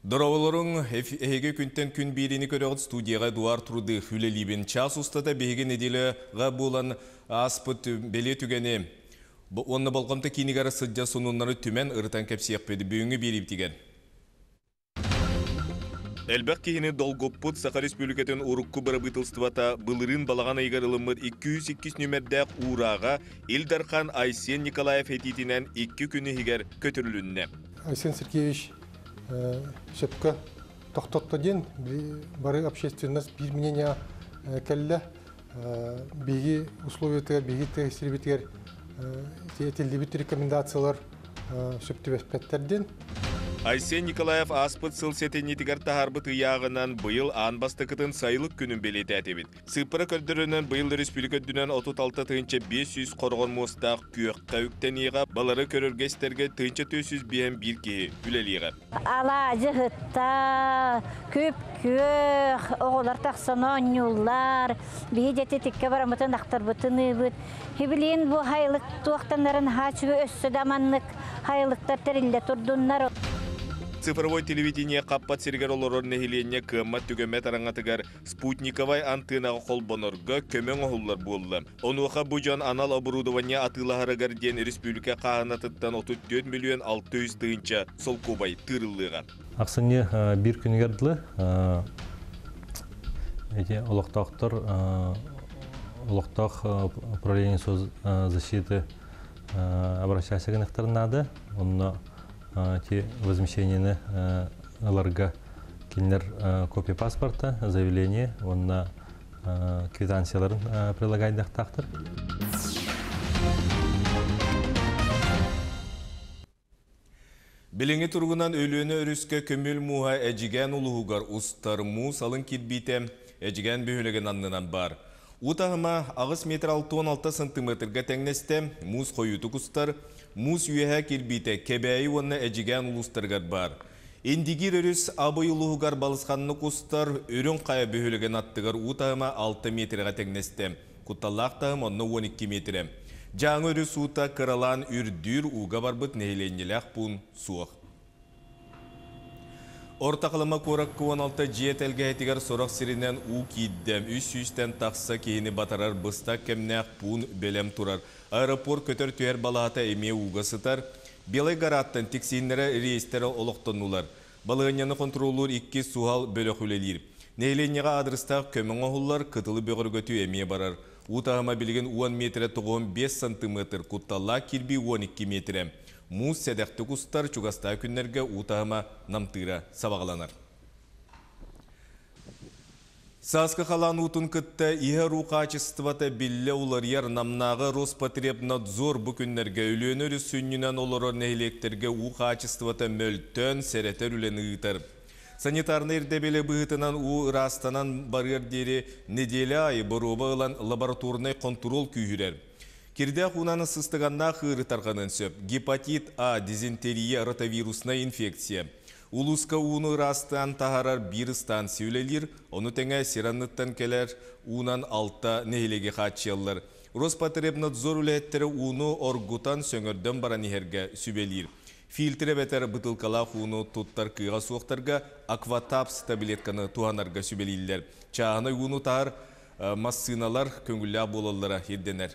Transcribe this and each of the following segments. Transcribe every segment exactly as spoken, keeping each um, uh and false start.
Дорооболоруҥ, эһиги күнтэн күн биэриини көрөҕүт, студияҕа Эдуард Рудых үлэлиибин. Час устата биһиги нэдиэлэҕэ буолан ааспыт бэлиэ түгэни уонна болҕомто киинигэр сылдьар сонуннары түмэн ырытан кэпсиэхпит бүгүҥҥү биэриибитигэр. Элбэх киһини долгуппут Саха Республикатын урукку бырабыыталыстыбата былырыын балаҕан ыйыгар ылыммыт икки сүүс иккис нүөмэрдээх уурааҕа Ил Дархан Айсен Николаев этиитинэн икки күн иһигэр көтүрүлүннэ. Айсен Сергеевич сөпкө тохтотто диэн бары общественность биир мнение кэллэ. Биһиги условиятыгар, биһиги сирбитигэр этиллибит рекомендациялар сөп түбэспэттэр диэн. Айсен Николаев ааспыт сыл сэтинньитигэр таһаарбыт ыйааҕынан быйыл аан бастакытын сайылык күнүн бэлиэтээтибит. Сыыппара көрдөрөрүнэн быйыл республика үрдүнэн отут алта тыһыынча биэс сүүс хороҕор муостаах күөххэ үктэниэҕэ, балары көрөргө-истэргэ тыһыынча түөрт сүүс биэс биир киһи үлэлиэҕэ. Алаадьы ыһытта, күп-күөх, оҕолор тахсан оонньууллар, биһи дьэти тиккэ бараммытын ахтарбытын ыыбыт. Хибилиин бу хайылык туохтаннарын хаачыгы өссө да маннык хайылыктар тэриллэ турдуннар. Цифровой телевидение хаппат сиригэр олорор нэһилиэнньэ кыаммат түгэммэт араҥатыгар спутниковай антынаҕа холбонорго көмө оҥоһуллар буолла. Онуоха бу дьон анал оборудование атыылаһарыгар диэн республика хааһынатыттан отут түөрт миллион алта жүз тыһыынча солкуобай тыырыллыаҕа. Ахсынньы биир күнүгэр дылы эти олохтоохтор олохтоох управление соцзащиты обращайся гынахтарынады. Онно те возмещениены ыларга кинилэр копия паспорта, заявление, онно квитанцияларын прилагайдахтаахтар. Билиҥҥи туругунан Өлүөнэ өрүскэ көмүл мууһа Эдьигээн улууһугар устар муус алын кирбиитэ Эдьигээн бөһүөлэгин аннынан баар. Уу таһыма аҕыс метр алта уон алта сантиметрга тэҥнэстэ, муус хойуутук устар, муус үөһэ кирбиитэ Кэбээйи уонна Эдьигээн улуустарыгар баар. Индигир өрүс Абый улууһугар балысханнык устар, Үрүҥ Хайа бөһүөлэгин аттыгар уу таһыма алта метрга тэҥнэстэ, кутталлаах таһым онно уон икки метрэ. Дьааҥы өрүс уута кыралаан үрдүүр ууга барбыт нэһилиэнньэлээх пуун суох. Орто Халыма куоракка уон алта дьиэ тэлгэһэтигэр сорох сиринэн уу киирдэ. Үс сүүстэн тахса киһини батарар быстах кэмнээх пуун бэлэм турар. Аэропорт көтөр түһэр балаһата эмиэ ууга сытар. Белай Гораттан тиксииннэрэ рейстэрэ олохтоннулар. Балыһынньаны контроллуур икки суһал бөлөх үлэлиир. Нэһилиэнньэҕэ аадырыстаах көмө оҥоһуллар, кытылы бөҕөргөтүү эмиэ барар. Уу таһыма билигин уон метрэ тоҕуһун биэс сантиметр, кутталлаах кирбии уон икки метрэ. Муус сэдэхтик устар, чугастаа күннэргэ уу таһыма намтыыра сабаҕаланар. Сааскы халаан уутун кытта иһэр уу хаачыстыбата биллэ уларыйар. Намнааҕы Роспотребнадзор бу күннэргэ Өлүөнэ өрүс сүнньүнэн олорор нэһилиэктэргэ уу хаачыстыбата мөлтөөн сэрэтэр үлэни ыытар. Санитарнай ирдэбили быһыытынан уу ыраастанан барыар диэри нэдиэлэ аайы боруоба ылан лабораторнай хонтуруол күүһүрэр. Кирдээх уунан сыстыганнаах ыарыы тарҕаныан сөп. Гепатит А, дизентерия, ротавируснай инфекция. Улууска ууну ыраастаан таһаарар биир станция үлэлиир, ону тэҥэ сир анныттан кэлэр уунан алта нэһилиэги хааччыйаллар. Роспотребнадзор үлэһиттэрэ ууну оргутан сөҥөрдөн баран иһэргэ сүбэлиир. Фильтр эбэтэр бытылкалаах ууну туттар кыаҕа суохтарга акватапс таблетканы туһанарга сүбэлииллэр. Чааһынай ууну таһар массыыналар көҥүллээх буолаллара ирдэнэр.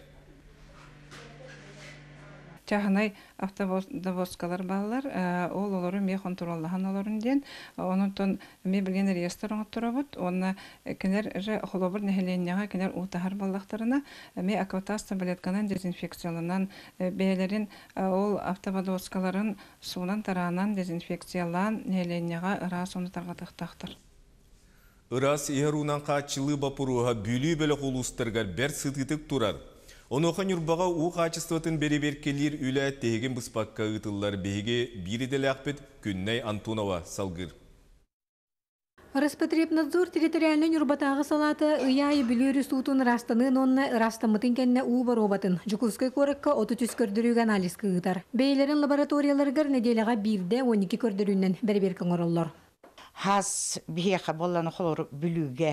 Чааһынай автовозкалар бааллар, ол олору эмиэ хонтуруоллаһан олорун диэн, онон эмиэ билген реестр оҥотторобут, уонна кинилэр же холобур нэһилиэнньэҕэ кинилэр уу таһар буоллахтарына, эмиэ акватас таблетканан дезинфекцияланан, бэйэлэрин ол автовозкаларын суунан тараанан дезинфекциялаан нэһилиэнньэҕэ ыраас ууну тарҕатыахтаахтар. Ыраас иһэр уунан хааччылыы боппуруоһа Бүлүү бөлөх улуустарыгар бэрт сытыытык турар. Онуоха Ньурбаҕа уу хаачыстыбатын бэрэбиэркэлиир үлэ тиһигин быспакка ыытыллар. Биһиги биир идэлээхпит Күннэй Антонова салгыыр. Роспотребнадзор территориальнай Ньурбатааҕы салаата ый аайы Бүлүү өрүс уутун ырастаныын уонна ырастаммытын кэннэ уу боруобатын Дьокуускай куоракка отут үс көрдөрүүгэ анализка ыытар. Бэйэлэрин лабораторияларыгар нэдиэлэҕэ биирдэ уон икки көрдөрүүнэн бэрэбиэркэ оҥороллор. Хас биһиэхэ буолланы холору Бүлүүгэ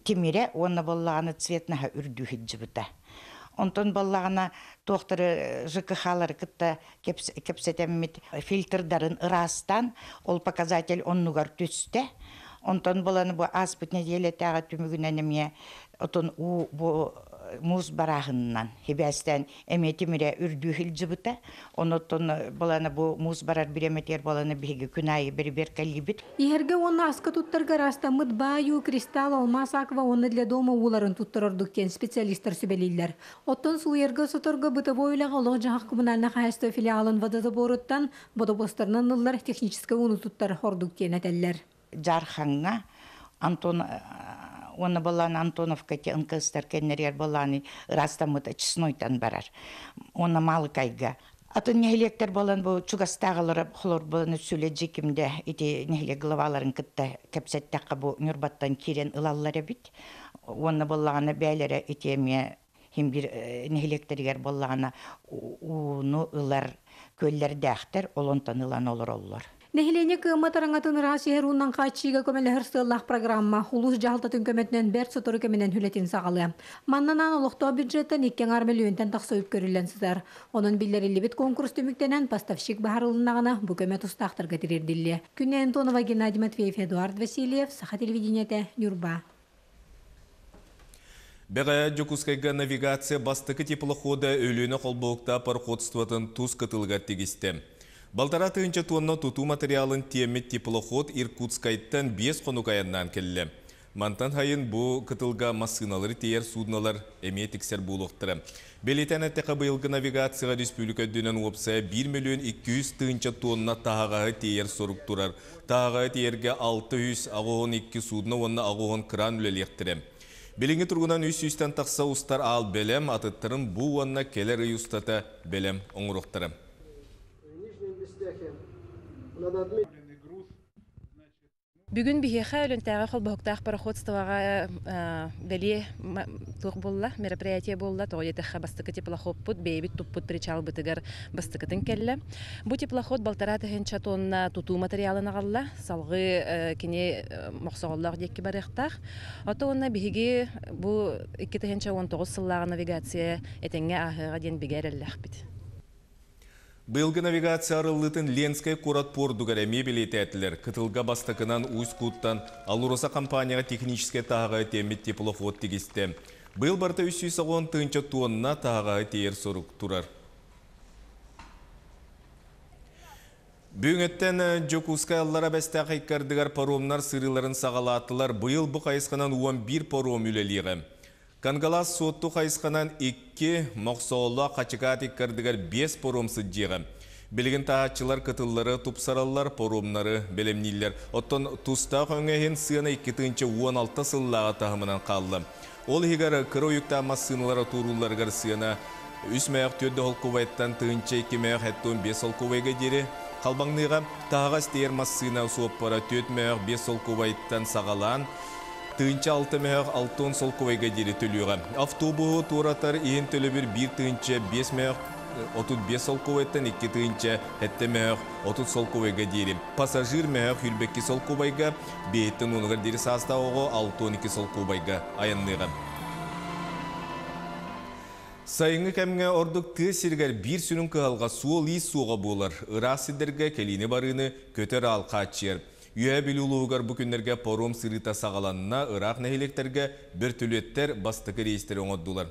тимирэ уонна буоллаҕына цветнаһа үрдүү сылдьыбыта. Онтон боллаҕына туохтары Ж К Х-лары кытта кэпсэтэммит фильтрдарын ыраастан, ол показатель оннугар түстэ. Онтон боланы бу ааспыт нэдиэлэтээҕи түмүгүнэн эмиэ отон уу бу муус барааһынынан хибээстэн эмиэ тимире үрдүү сылдьыбыта. Онотон боланы бу муус барар бириэмэтигэр боланы биһиги күн аайы бэрэбиэркэлиибит. Иһэргэ уонна аска туттарга ыраастаммыт баай уу, Кристалл, Алмаас, Аква уонна Для дома ууларын туттар ордук диэн специалистар сүбэлииллэр. Оттон сууйарга, соторго, бытовой үлэҕэ олох-дьаһах коммунальнай хаһаайыстыба филиалын водозаборуттан бодобуостарынан ыллар техническэй ууну туттар ордук диэн этэллэр. Дьаархаҥҥа Антон уонна боллаан Антоновка те Н К Стар кэннэригэр боллааны ыраастаммыта Чеснойтан барар. Уонна Маалыкайга. Атын нэһилиэктэр болан бу чугастааҕылара холор боланы сүлэ дьикимде ити нэһилиэк главаларын кытта кэпсэттэххэ бу Ньурбаттан киирэн ылаллар эбит. Уонна боллаҕына бээлэрэ ити эмиэ хим бир нэһилиэктеригэр боллаҕына ууну ылар көллэрдээхтэр, олонтон ылан олороллор. Нэһилиэнньэ кыаммат араҥатын ыраас иһэр уунан хааччыйыыга көмөлөһөр сыаллаах программа улуус дьаһалтатын көмөтүнэн бэрт сотору кэминэн үлэтин саҕалыа. Маннанан олохтоох бюджеттан икки аҥаар мөлүйүөнтэн тахса үп көрүллэн сытар. Онон биллэриллибит конкурс түмүктэнэн поставщик быһаарылыннаҕына бу көмө тустаахтарга тириэрдиллиэ. Күнэ Антонова, Геннадий Матвеев, Эдуард Васильев, Саха телевидениете, Ньурба. Бэҕэһээ Дьокуускайга навигация бастакы теплохода Өлүөнэ холбоһуктаах пароходствотын тус кытылыгар тигистэ. Балтараа тыһыынча тонна тутуу материалын тиэммит теплоход Иркутскайтан биэс хонук айаннаан кэллэ. Мантан сайын бу кытылга массыыналары тиэйэр суднолар эмиэ тиксэр буолуохтара. Бэлиэтээн эттэххэ, быйылгы навигацияҕа республика үрдүнэн уопсайа биир миллион икки сүүс тыһыынча тонна таһаҕаһы тиэйэр сорук турар. Таһаҕаһы тиэйэргэ алта сүүс аҕыс уон икки судно уонна аҕыс уон кран үлэлиэхтэрэ. Билиҥҥи туругунан үс сүүстэн тахса устар аал бэлэм, атыттарын бу уонна кэлэр ый устата бэлэм оҥоруохтара. Бүгүн биһиэхэ Өлүөнэтээҕи холбоһуктаах пароходствоҕа бэлиэ туох буолла, мероприятие буолла, тоҕо диэтэххэ бастакы теплоходпут бэйэбит туппут причалбытыгар бастакытын кэллэ. Бу теплоход балтараа тыһыынча тонна тутуу материалын аҕалла, салгыы кини Мохсоҕоллоох диэки барыахтаах. Ото уонна биһиги бу икки тыһыынча он тоҕус сыллааҕы навигация этэҥҥэ ааһыаҕа диэн бигэ эрэллээхпит. Быйылгы навигация арыллыытын Ленскэй куорат пордугар эмиэ бэлиэтээтилэр. Кытылга бастакынан Усть-Куттан Алроса компанияҕа техническэй таһаҕаһы тиэммит теплоход тигистэ. Быйыл барыта үс сүүс тыһыынча тонна таһаҕаһы тиэйэр сорук турар. Бүгүҥҥүттэн Дьокуускай Аллараа Бэстээх икки ардыгар паромнар сырыыларын саҕалаатылар. Быйыл бу хайысханан он биир паром үлэлиэҕэ. Кангалас Суотту хайысханан икки, Мохсоҕоллоох Хачыкаат икки ардыгар биэс паром сылдьыаҕа. Билигин таһааччылар кытыллары тупсараллар, паромнары бэлэмнииллэр. Оттон тустаах өҥө иһин сыана икки тыһыынча он алта сыллааҕы таһымынан хаалла. Ол иһигэр кыра уйуктаах массыыналар туоруулларыгар сыана үс мөөх түөрт солкуобайтан тыһыынча икки мөөх сэттэ уон биэс солкуобайга диэри халбаҥныаҕа. Таһаҕас тиэйэр массыына суоппара түөрт мөөх биэс солкуобайтан саҕалаан тыһыынча алта мөөх алта уон солкуобайга диэри төлүөҕэ. Автобуһу туоратар иһин төлөбүр биир тыһыынча биэс мөөх отут биэс солкуобайтан икки тыһыынча сэттэ мөөх отут солкуобайга диэри. Пассажир мөөх сүүрбэ икки солкуобайга, биэһиттэн уонугар диэри саастаах оҕо алта уон икки солкуобайга айанныаҕа. Сайыҥҥы кэмҥэ ордук тыа сиригэр биир сүрүн кыһалҕа суол-иис суоҕа буолар. Ыраах сирдэргэ кэлиини барыыны көтөр аал хааччыйар. Үөһээ Бүлүү улууһугар бу күннэргэ паром сырыыта саҕаланна, ыраах нэһилиэктэргэ бөртөлүөттэр бастакы рейстэри оҥордулар.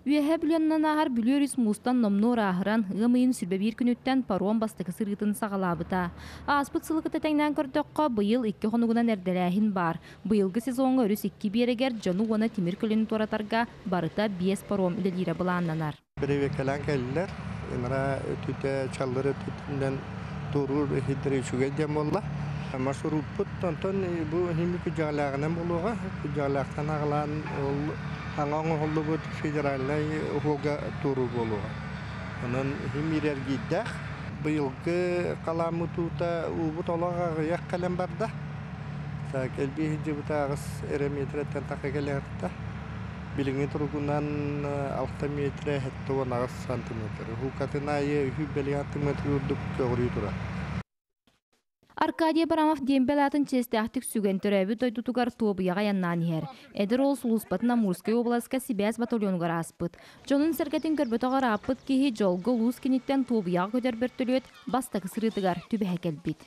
Үөһээ Бүлүү ааһар Бүлүү өрүс муустан номнуо ырааһыран, ыам ыйын сүүрбэ биир күнүттэн паром бастакы сырыытын саҕалаабыта. Ааспыт сылы кытта тэҥнээн көрдөххө, быйыл икки хонугунан эрдэлээһин баар. Быйылгы сезоҥҥа өрүс икки биэрэгэр дьону уонна тимир көлөнү туоратарга барыта биэс паром үлэлиирэ былааннанар. Бэрэбиэркэлээн кэллилэр. Ынараа өттүтэ чаллыр өттүтүнэн туоруур иһиттэр үчүгэй диэн буолла. Маршруппут онтон бу хими күдьэҕэлээҕинэн буолуоҕа. Күдьэҕэлээхтэн аҕалаан ол аҥа оҥоһуллубут федеральнай уһуга туоруу буолуоҕа. Онон химирэргииддээх быйылгы халааммыт уута уубут олох аҕыйах кэлэн барда. Кэлбии сылдьыбыта аҕыс эрэ метреттэн тахса кэлиэхтэ. Билиҥҥи туругунан алта метр сэттэ уон аҕыс сантиметр. Уһукатын аайы үһү бэлиэ сантиметр үрдүк көҕүрүү турар. Аркадий Абрамов дембел атын честяхтик сүген төрөбү дойдутугар туобуяга яннан иһэр. Эдэр ол сулуспатын Амурскай областка сибээс батальонугар ааспыт. Дьонун сэргэтин көрбөтөҕөр ааппыт киһи жолго улуус киниттен туобуяга көтөр бөртөлүөт бастакы сырыытыгар түбэһэ кэлбит.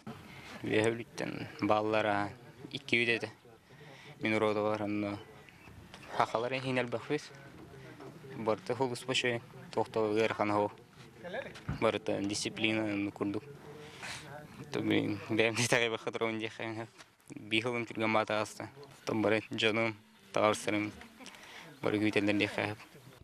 Үөһэ баллара икки үдеде. Мин уродалар онно хахалар хинел бахвис. Барты хулус башы тохтол ыархан хо. Барыта дисциплина курдук. Блин, бэм тагы бахатрон дихэ. Бихылым түргэн бата аста. Том бары жаным, таарсырым. Бары күтелдер дихэ.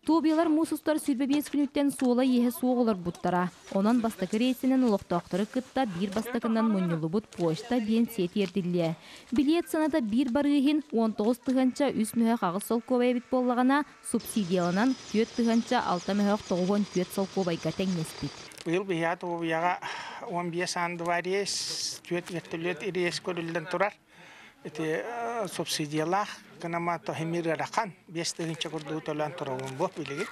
Туобиялар муус устар сүүрбэ биэс күнүттэн суола иэһэ суох буттара. Онон бастакы рейсинен олохтоохтору кытта биир бастакынан мунньуллубут почта биэнсийэ тиэрдиллиэ. Билиэт сыаната биир барыыһын он тоҕус тыһыынча үс мөһөх аҕыс солкуобай эбит буоллаҕына, субсидияланан түөрт тыһыынча алта мөһөх тоҕуон түөрт солкуобайга тэҥнэспит. Быйыл биһиэхэ Туобуйаҕа он биэс аан два рейс, түөрт вертолет рейс көрүллэн турар. Ити субсидиялаах гынама тохимир ыарахан биэс тыһыынча курдугу төлөөн туругун бу билигин.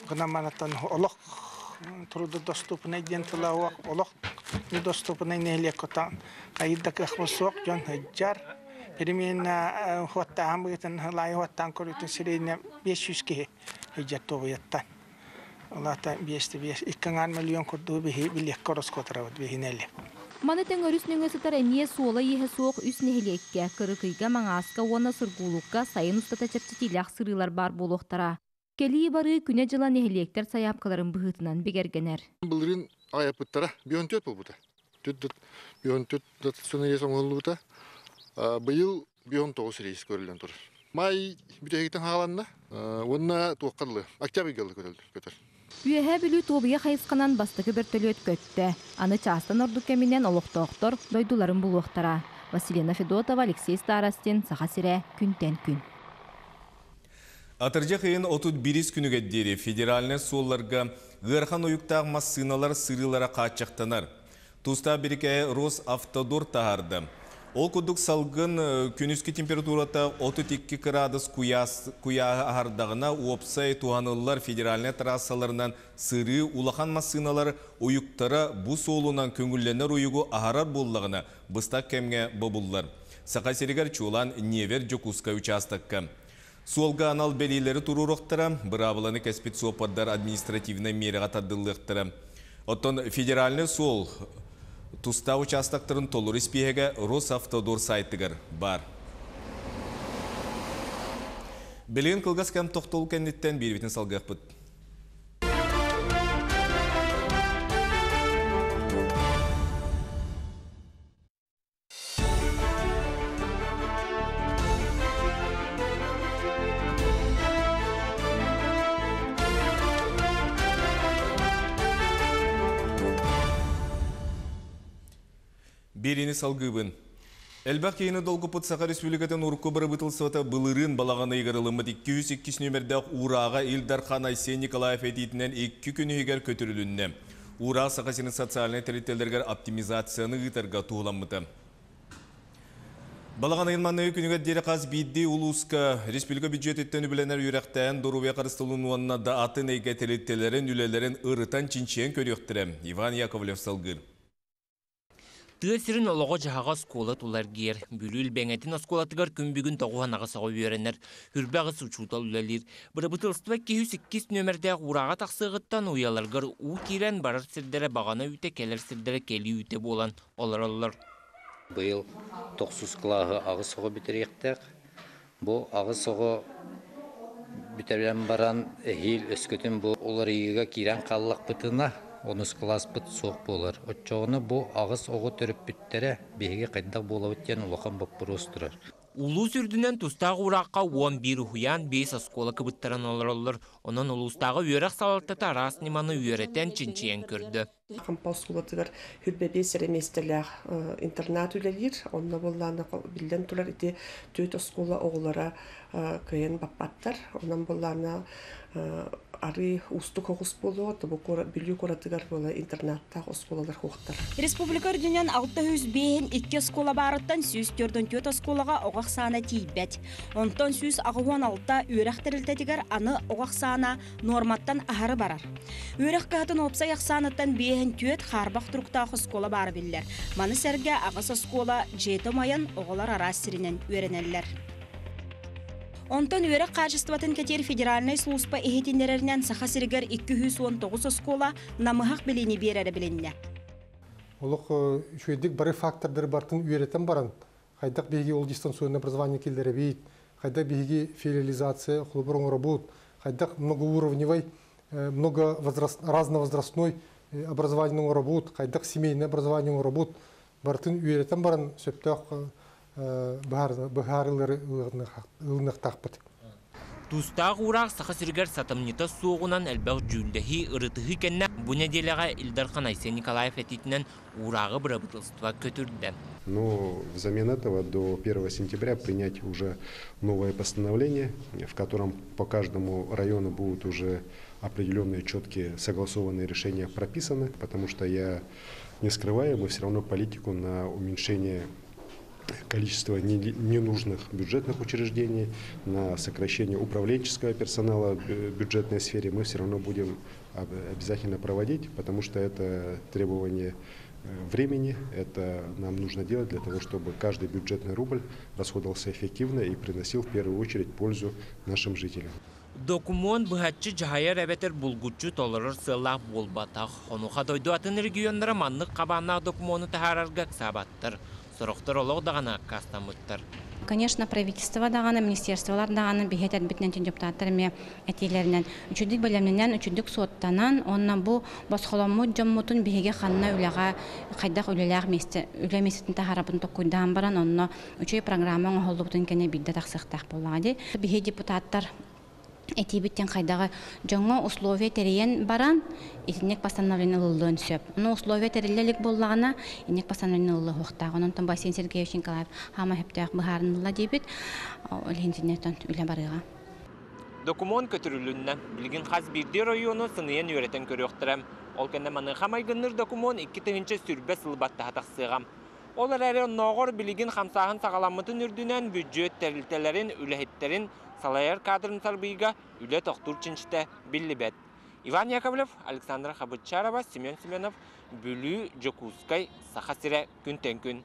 Гынаманаттан олох трудодоступный диэн тыла олох недоступный нэһилиэк котан кайда кыах суох дьон сылдьар. Переменна хуаттаан быытын лай хуаттаан көрүтүн сирейне бес жүз киһи сылдьар Туобуйаттан. Олата биэсти биэс икки миллион курдугу биһи билиэккэ ороскуотарабыт биһинэлли. Маны тэҥ өрүс нөҥүө сытар эмиэ суола иэһэ суох үс нэһилиэккэ, Кырыкыйга, Маҥааска уонна Сургуулукка сайын устата чэпчэтиилээх сырыылар баар буолуохтара. Кэлии барыы күнэ-дьыла нэһилиэктэр сайаапкаларын быһыытынан бигэргэнэр. Былырыын айаппыттара бион төрт буолбута. Бион төрт рейс оҥоһуллубута. Быйыл бион тоҕус рейс көрүллэн турар. Май бүтэһигиттэн хааланна, уонна туоххаллы, октябрь көтөр. Үөһэ Бүлүү Туобуйа хайысханан бастакы бөртөлүөт көттө. Аны чаастан ордук кэминэн олохтоохтор дойдуларын булуохтара. Василина Федотова, Алексей Старостин, Саха сирэ, күнтэн күн. Атырдьах ыйын отут биирис күнүгэр диэри федеральнай суолларга ыарахан уйуктаах массыыналар сырыылара хааччахтанар. Тустаах бирикээһи Росавтодор таһаарда. Ол курдук салгын күнүскү температурата отут икки кыраадыс куйааһы аһардаҕына уопсай туһаныллар федеральнай трассаларынан сырыы улахан массыыналар уйуктара бу суолунан көҥүллэнэр уйугу аһарар буоллаҕына быстах кэмҥэ бобуллар. Саха сиригэр чуолаан Невер Дьокуускай учаастакка. Суолга анал бэлиэлэри туруоруохтара, быраабыланы кэспит суоппардар административнай миэрэҕэ тардыллыахтара. Оттон федеральнай суол тустаах учаастактарын толору испииһэгэ Росавтодор сайтыгар бар. Билигин кылгас кэм тохтол кэнниттэн биирбитин салгыахпыт. Берини салгыбын. Элбэх киһини долгуппут Саха Республикатын урукку бырабыыталыстыбата былырыын балаҕан ыйыгар ылыммыт икки жүз иккис нүөмэрдээх уурааҕа Ил Дархан Айсен Николаев этиитинэн икки күн иһигэр көтүрүлүннэ. Уураах Саха сирин социальнай тэрилтэлэригэр оптимизацияны ыытарга туһуламмыта. Балаҕан ыйын манныгы күнүгэр диэри хас биирдии улууска республика бюджетиттэн үбүлэнэр үөрэхтээн доруобуйа харыстабылын уонна да атын эйгэ тэрилтэлэрин үлэлэрин ырытан чинчийэн көрүөхтэрэ. Иван Яковлев салгыыр. Тыа сирин олоҕо дьаһаҕа оскуола тулар гиэр. Бүлүү Илбэҥэтин оскуолатыгар күн бүгүн тоҕуһан аҕыс оҕо үөрэнэр. Хүрбэ аҕыс учуутал үлэлиир. Бырабыыталыстыба икки жүз иккис нүөмэрдээх уурааҕа тахсыаҕыттан уйаларгар уу киирэн барар сирдэрэ баҕана үүтэ, кэлэр сирдэрэ кэлии үүтэ буолан олороллор. Быйыл тохсус кылааһы аҕыс оҕо бүтэриэхтээх. Бу аҕыс оҕо бүтэрэн баран эһиил өскөтүн бу уларыйыыга киирэн хааллахпытына онус класспыт суох буолар. Оччоҕуна бу аҕыс оҕо төрөппүттэрэ биһиги хайдах буолабыт диэн улахан боппуруос турар. Улуус үрдүнэн тустаах ууракка уон биир уһуйаан биэс оскуола кыбыттаран олороллор. Онон улуустааҕы үөрэх салалтата араас ньыманы үөрэтэн чинчийэн көрдө. Хампа оскуолатыгар хүрбэ биэс эрэ миэстэлээх интернат үлэлиир. Онно буоллаана биллэн турар ити түөрт оскуола оҕолоро кыайан баппаттар. Онон буоллаана ары уустук оҕус буолуо, Бүлүү куоратыгар буола интернаттаах оскуолалар хуохтар. Республика үрдүнэн алта жүз бэһин икки оскуола барыттан сүүс төрдөн төрт оскуолаҕа оҕох саана тиийбэт. Онтон сүүс аҕыс алта үөрэх тэрилтэтигэр аны оҕох саана норматтан аһары барар. Үөрэх кыһатын уопсай ахсааныттан бэһин түөт харбақ тұруқтағы оскола бары білілер. Маны сәрге ағыс оскола жеті майын оғылар арас сиринен үйренелер. Онтон үөрэх качествотын кетер федеральный служба эхетиннереринен Саха сиригер икки жүз он тоғыз оскола намыһак билини берере билинне. Олох үчүдик бары фактордары бартын үйрөтен баран, хайдак биһиги ол дистанционное образование келдере бит, хайдак биһиги филиализация хлоборон работ, хайдак многоуровневый, много разновозрастной образование работ, хайдак семейное образование работ, бартын үйрөтен баран сөптөк бахарылары ылыныктакпыт. Тустаах ураах Саха сиригэр сатамнита суоҕунан элбэх дьүүллэһии ырытыһыы кэннэ бу нэдиэлэҕэ Ил Дархан Айсен Николаев этиитинэн уурааҕы бырабыыталыстыба көтүрдэ. Но взамен этого до первого сентября принять уже новое постановление, в котором по каждому району будут уже определенные четкие согласованные решения прописаны, потому что я не скрываю, мы все равно политику на уменьшение количество ненужных бюджетных учреждений, на сокращение управленческого персонала в бюджетной сфере мы все равно будем обязательно проводить, потому что это требование времени, это нам нужно делать для того, чтобы каждый бюджетный рубль расходовался эффективно и приносил в первую очередь пользу нашим жителям. Документ быһаччы жаһайар эбэтэр булгуччу толорор сыаллаах буолбатах. Онуоха дойду атын регионнара маннык хабааннаах докумуону таһаарарга ыксаабаттар. Сорохтор олох даҕаны аккаастаммыттар. Конечно, правительство даҕаны, министерстволар даҕаны биһиэхэ этэрбитинэн депутаттар эмиэ этиилэринэн үчүгдүк бэлэмнэнэн, үчүгдүк суоттанан, онно бу босхоломмут дьоммутун биһиги ханна үлэҕэ хайдах үлэлээх миэстэ, үлэ миэстэтин таһаарабын токкуйдаан баран, онно үчүгэй программа оҥоһуллубутун кэннэ биирдэ тахсыахтаах буоллаҕа дии. Биһиги депутаттар этиибиттэн хайдаҕы дьоҥҥо условия тэрийэн баран, итинник постановление ылыллыан сөп. Ону условия тэриллэлик буоллаҕына, инник постановление ылыллыахтаах. Онон Айсен Сергеевич Николаев хаама хөптөөх быһаарынылла диэбит, ол иһин үлэ барыаҕа. Документ көтүрүлүннэ. Билигин хас биирдии району сыныйан үөрэтэн көрүөхтэрэ. Ол кэннэ маныаха майгынныыр документ икки тыһыынча сүүрбэ сыл баттаһа тахсыаҕа. Ол эрээри оннооҕор билигин хамсааһын саҕаламмытын үрдүнэн бюджет тэрилтэлэрин, үлэһиттерин салайар кадрын сарбыйга үлэ тохтуур чинчитэ биллибэт. Иван Яковлев, Александра Хабытчарова, Семен Семенов, Бүлүү, Дьокуускай, Саха сирэ, күнтэн күн.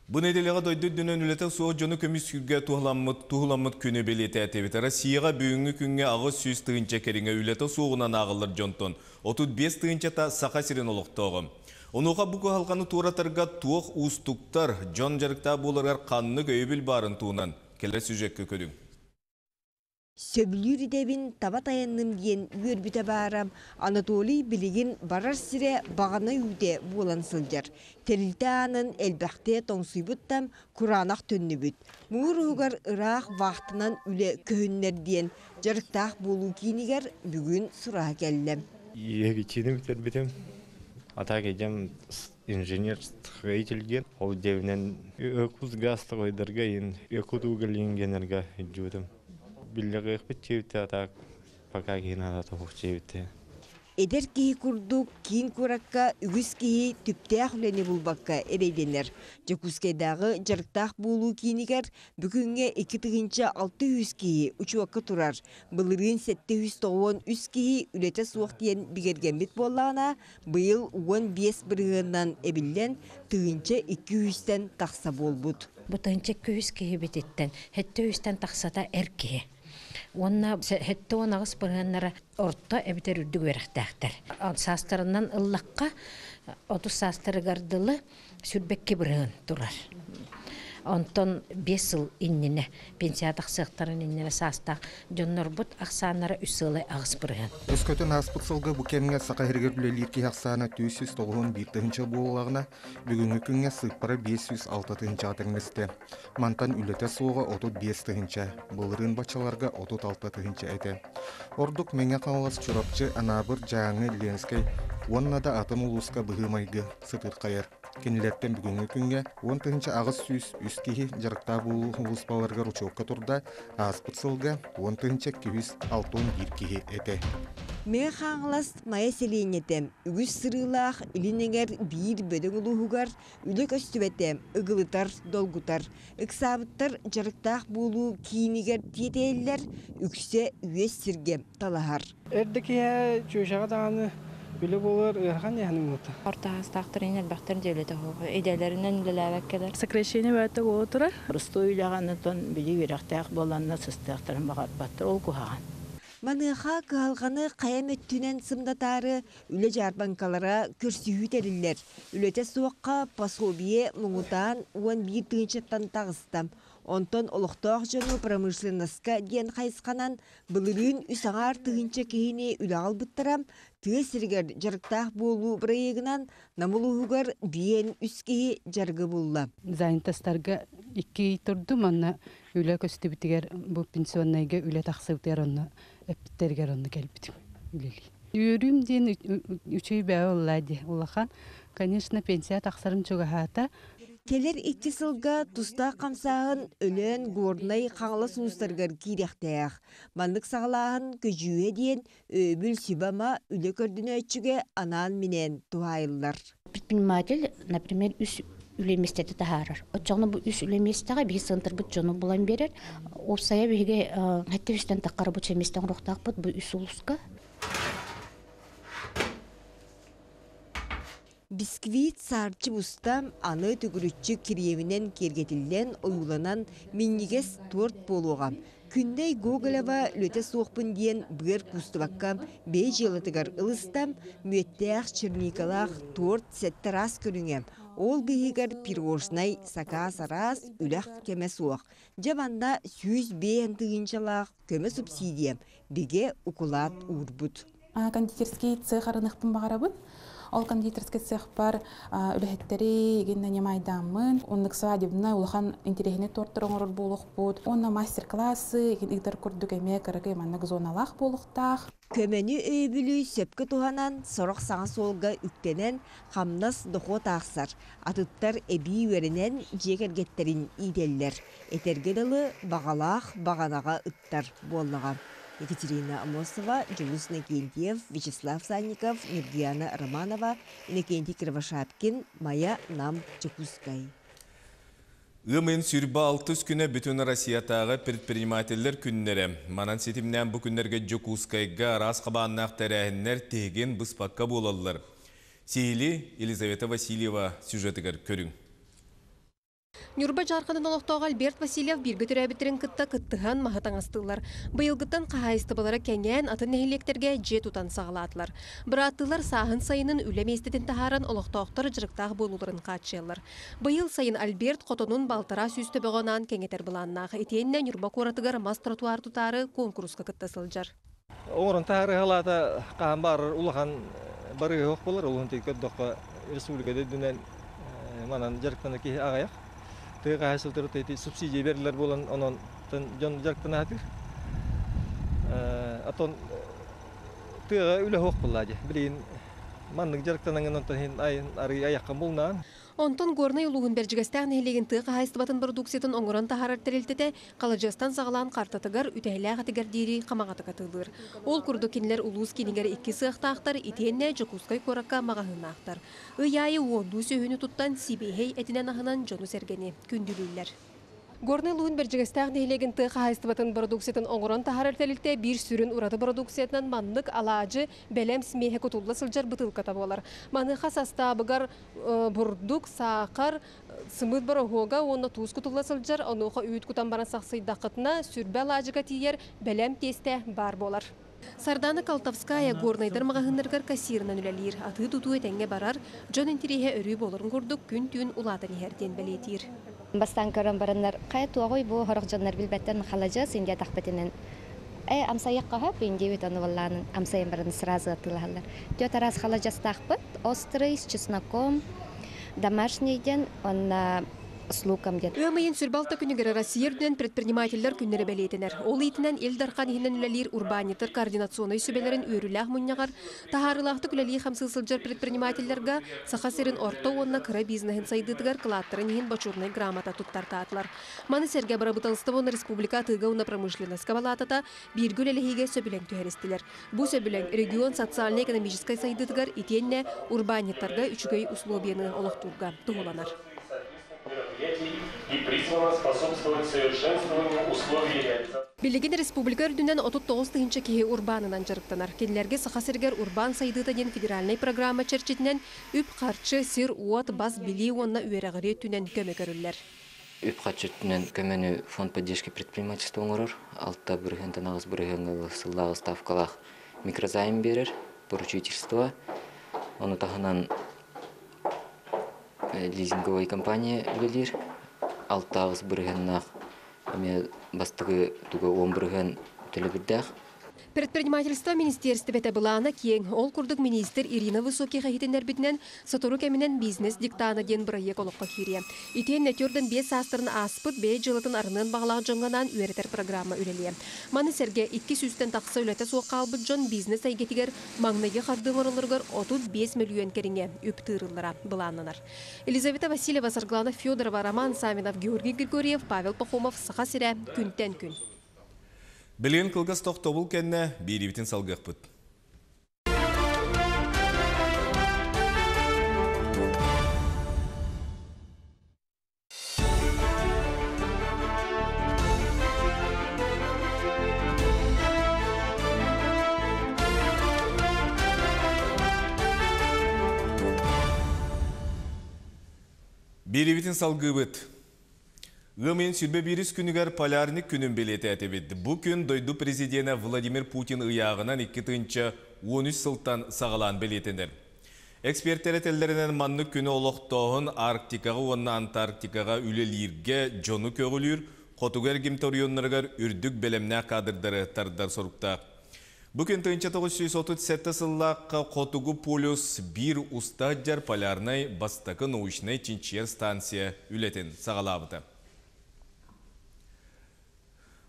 Бу нэдиэлэҕэ дойду үрдүнэн үлэтэ суох дьону көмүскүүргэ туһуламмыт, туһуламмыт күнү бэлиэтээтибит. Россияҕа бүгүҥҥү күҥҥэ аҕыс сүүс тыһыынча кэриҥэ үлэтэ суоҕунан ааҕыллар дьонтон отут биэс тыһыынчата Саха сирин олохтооҕо. Онуоха бу кыһалҕаны туоратарга туох уустуктар, дьон дьарыктаах буоларыгар ханнык өйөбүл баарын туһунан кэлэр сюжеккэ көрүҥ. Сөбүлүүр идэбин таба таянным диэн үөрбүтэ баара, Анатолий билигин барар сирэ баҕана үүтэ буолан сылдьар. Тэрилтэ аанын элбэхтэ тоҥсуйбуттан кураанах төннүбүт. Муҥур уһугар ыраах вахтынан үлэ көһүннэр диэн дьарыктаах буолуу киинигэр бүгүн сураһа кэллэ. Егичиним тербитим. Атак идем инженер строитель ген. Ол девнен өкүз газ стройдерге ин өкүт уголингенерге жудым. Биллеге битчибите атак пока гина да тохчибите. Эдэр киһи курдук киин куракка үгүс киһи түптээх үлэни булбакка эрэйдэнэр. Дьокуускайдааҕы дьарыктаах буолуу киинигэр бүгүҥҥэ икки тыһыынча алты жүз киһи учуокка турар. Былырыын сэттэ жүз тоҕуон үс киһи үлэтэ суох диэн бигэргэммит буоллаҕына, быйыл уон биэс бырыһыанынан эбиллэн тыһыынча икки жүзтэн тахса буолбут. Бу тыһыынча икки жүз киһи бититтэн, сэттэ жүзтэн тахсата эр киһи. Уонна сэттэ уон аҕыс бырыһыаннара орто эбитэр үрдүк үөрэхтээхтэр. Саастарынан ыллахха отуз саастарыгар дылы сүрбэкки бырыһыан турар. Онтон биэс сыл иннинэ, пенсия тахсыахтарын иннинэ саастаах дьоннорбут ахсааннара үс сылы аҕыс бырыһыан. Өскөтүн ааспыт сылга бу кэмҥэ Саха сиригэр үлэлиир киһи ахсаана түөрт сүүс тоҕуон биир тыһыынча буоллаҕына, бүгүҥҥү күҥҥэ сыыппара биэс сүүс алта тыһыынчаҕа тэҥнэстэ. Мантан үлэтэ суоҕа отут биэс тыһыынча, былырыын баччаларга отут алта тыһыынча этэ. Ордук Мэҥэ Хаҥалас, Чурапчы, Анаабыр, Дьааҥы, Ленскэй уонна да атын улууска быһыы-майгы сытыырхайар. Кинилэртэн бүгүҥҥү күҥҥэ уон тыһыынча аҕыс сүүс үс киһи дьарыктаах буолуу улууспаларыгар учуокка турда, ааспыт сылга уон тыһыынча икки жүз алта уон биир киһи этэ. Мэҥэ Хаҥалас Майа сэлиэнньэтэ үгүс сырыылаах илин эҥэр биир бөдөҥ улууһугар үлэ көстүбэтэ ыгылытар, долгутар. Ыксаабыттар дьарыктаах буолуу киинигэр тиэтэйэллэр, үксэ үөс сиргэ талаһар. Эрдэ киһи чүөшэҕэ даҕаны Үлэ болар ыарахан яһаным бута. Орто астаахтарын элбэхтэр дьиэлэтэ хоҕо. Иделеринен үлэлээбэккэлэр. Сокращение баата отырар. Простой үлэҕанытын били үөрэхтээх буоланна сыстыахтарын баҕарбаттар ол куһаҕан. Маныаха кыһалҕаны хайа өттүнэн сымнатаары үлэ дьаарбаҥкалара көрсүһүү тэриллэр. Үлэтэ суохха пособие муҥутаан уон биир тыһыынчаттан таҕыста. Онтон олохтоох дьону промышленноска диэн хайысханан былырыын үс аҥаар тыһыынча киһини үлэҕэ ылбыттара, тыа сиригэр дьарыктаах буолуу бырайыагынан Нам улууһугар биэн үс киһи дьарыгы булла. Занятостарга икки турдум, онно үлэ көстүбүтүгэр бу пенсионнайга үлэ тахсыбытыгар онно эппиттэригэр онно кэлбитим үлэлии. Үөрүүм диэн үчүгэй бэйэ буолла дии улахан. Конечно, пенсия тахсарым чугаһаата. Кэлэр икки сылга тустаах хамсааһын Өлөөн, Горнай, Хаҥалас улуустарыгар киириэхтээх. Маннык саҕалааһын көдьүүһэ диэн өйөбүл сүбэ-ама үлэ көрдөнөөччүгэ анаан-минээн туһаайыллар. Предприниматель, например, үс үлэ миэстэтэ таһаарар. Оччоҕуна бу үс үлэ миэстэҕэ биһи центрбыт дьону булан биэрэр. Уопсайа биһиги сэттэ үстэн таххара бу миэстэ оҥоруохтаахпыт бу үс улууска. Бисквит саарчы буста аны төгүрүччү кириэминэн киэргэтиллэн, ойууланан минньигэс торт буолуоҕа. Күннэй Гоголева үлэтэ суохпун диэн быар куустубакка бэйэ дьыалатыгар ылыста, мүөттээх, черникалаах торт сэттэ араас көрүҥэ. Ол быыһыгар пирожнай, сакаас араас, үлэх кэмэ суох. Дьэ манна сүүс биэс тыһыынчалаах көмө субсидия бигэ укулаат уурбут. Кондитерский цех арыныхпын баҕарабын. Ол кондитерский цех бар үлэһиттери гинна немайдаммын. Оннук свадебный улахан интересный торттар оҥорор буолуохпут. Онно мастер-классы ыытар курдук эмиэ кыракый маннык зоналаах буолуохтаах. Көмөнү өйөбүлү сөпкө туһанан, сорох саҥа суолга үктэнэн, хамнас дохуот аахсар. Атыттар эбии үөрэнэн дьиэ кэргэттерин иитэллэр. Этэргэ дылы баҕалаах баҕанаҕа ыттар буоллаҕа. Екатерина Амосова, Дьулус Иннокентьев, Вячеслав Санников, Нюргияна Романова, Иннокентий Кривошапкин, Майа, Нам, Дьокуускай. Ыам ыйын сүүрбэ алтыс күнэ бүтүн Россиятааҕы предпринимателлэр күннэрэ. Манан ситимнээн бу күннэргэ Дьокуускайга араас хабааннаах тэрээһиннэр тиһигин быспакка буолаллар. Сиһилии Елизавета Васильева сюжетыгар көрүҥ. Ньурба Дьаарханын олохтооҕо Альберт Васильев бииргэ төрөөбүттэрин кытта кыттыһан маһы таҥастыыллар. Быйылгыттан хаһаайыстыбалара кэҥээн атын нэһилиэктэргэ дьиэ тутан саҕалаатылар. Бырааттыылар сааһын сайынын үлэ миэстэтин таһааран олохтоохтор дьарыктаах буолууларын хааччыйаллар. Быйыл сайын Альберт хотонун балтараа сүүс төбөҕө анаан кэҥэтэр былааннаах. Итиэннэ Ньурба куоратыгар мас тротуар тутаары куонкуруска кытта сылдьар. Оҥорон таһаарыһалаата хаһан баарар улахан барыһы буолар, улахан көрдөххө республикада үрдүнэн манан дьарыктана киһи аҕыйах. Тыа хаһаайыстыбалара субсидия берилер буолан, онон дьон дьарыктана сатыыр. Оттон тыаҕа үлэ суох буолла дии. Билигин маннык дьарыктанан онтон иһин арый айаххан булнаан. Онтон Горнай улууһун Бэрдьигэстээх нэһилиэгин тыа хаһаайыстыбатын продукциятын оҥорон таһаарар тэрилтэтэ халадьыастан саҕалаан картатыгар үтэһэлээх этигэр диэри хамаҕатык атыылыыр. Ол курдук кинилэр улуус киинигэр икки сыахтаахтар, итиэннэ Дьокуускай куоракка маҕаһыыннаахтар. Ый аайы уоннуу сүөһүнү туттан сибиэһэй этинэн аһынан дьону сэргэни күндүлүүллэр. Горнай улууһун Бэрдьигэстээх нэһилиэгин тыа хаһаайыстыбатын продукциятын оҥорон таһаарар тэрилтэ биир сүрүн ураты продукциятынан маннык алаадьы бэлэм смеһэ кутулла сылдьар бытыылката буолар. Маныаха састаабыгар бурдук, саахар, сымыыт бороһуога уонна туус кутулла сылдьар, онуоха үүт кутан баран сахсыйдаххытына сүрбэ алаадьыга тиийэр бэлэм тиэстэ баар буолар. Сардана Колтовская Горнайдар маҕаһыыннарыгар кассирынан үлэлиир, атыы тутуу этэҥҥэ барар, дьон интэриэһэ өрүү буоларын курдук күн-түүн улаатан иһэр диэн бэлиэтиир. Бастаан көрөн бараннар, хайа туоҕуй бу хорох дьоннор билбэттэн халадьыас индия тахпытынан. Э, амсайық қахап, индия бит оны валлаанын амсайын бараны сразу атылаһаллар. Түөрт араас халадьыастаахпыт, острый, с чесноком, домашний ден, онна с луком ден. Ыам ыйын сүүрбэ алта күнүгэр Россия үрдүнэн предпринимателлэр күннэрэ бэлиэтэнэр. Ол иитинэн Ил Дархан иһинэн үлэлиир урбаанньыттар координационнай сүбэлэрин үөрүүлээх мунньаҕар таһаарыылаахтык үлэлии хамсыы сылдьар предпринимателлэргэ Саха сирин орто уонна кыра бизнеһин сайдыытыгар кылааттарын иһин бочуотунай грамота туттартаатылар. Маны сэргэ бырабыыталыстыба уонна республика атыыга уонна промышленноска балаатата бииргэ үлэлэһиигэ сөбүлэҥ түһэристилэр. Бу сөбүлэҥ регион социально-экономическай сайдыытыгар итиэннэ урбаанньыттарга үчүгэй условияны олохтуурга туһуланар. И призвана способствовать совершенствованию условий реализации. Билигин республика үрдүнэн отут тоҕус тыһыынча киһи урбаанынан дьарыктанар. Кинилэргэ Саха сиригэр урбаан сайдыыта диэн федеральнай программа чэрчитинэн үп-харчы, сир-уот, бас билии уонна үөрэҕирии өттүнэн көмө көрүллэр. Үп-харчы өттүнэн көмөнү фонд поддержки предпринимательства оҥорор. Алта бырыһыантан аҕыс бырыһыаҥҥа сыллааҕы ставкалаах микрозайм биэрэр, поручительство. Ону таһынан лизинговай компания үлэлиир. Алта аҕыс бырыһыаннаах эмиэ бастакы туга уон бырыһыан төлөбүрдээх. Предпринимательство министиэристибэтэ былаана киэҥ. Ол курдук министр Ирина Высоких иһитиннэрбитинэн, сотору кэминэн бизнес диктана диэн бырайыак олоххо киириэ. Итиэннэ түөрт уон биэс саастарын ааспыт бэйэ дьыалатын арыныан баҕалаах дьоҥҥо анаан үөрэтэр программа үлэлиэ. Маны сэргэ икки сүүстэн тахса үлэтэ суох хаалбыт дьон бизнес эйгэтигэр маҥнайгы хардыы оҥороллоругар отут биэс мөлүйүөн кэриҥэ үп тыырыллара былааннанар. Елизавета Васильева, Саргылана Федорова, Роман Савинов, Георгий Григорьев, Павел Пахомов, Саха сирэ, күнтэн күн. Билигин кылгас тохтобул кэннэ биэриибитин салгыахпыт. Биэриибитин салгыыбыт. Ыам ыйын сүүрбэ биирис күнүгэр полярник күнүн бэлиэтээтибит. Бу күн дойду президенэ Владимир Путин ыйааҕынан икки тыһыынча уон үс сылтан саҕалаан бэлиэтэнэр. Эксперттэр этэллэринэн маннык күнү олохтооһун Арктикаҕа уонна Антарктикаҕа үлэлииргэ дьону көҕүлүүр, хотугу эргимтэ оройуоннарыгар үрдүк бэлэмнээх кадрдары тардар соруктаах. Бу күн тыһыынча тоҕус сүүс отут сэттэ сыллаахха Хотугу полюс биир уста сылдьар полярнай бастакы научнай чинчийэр станция үлэтин саҕалаабыта.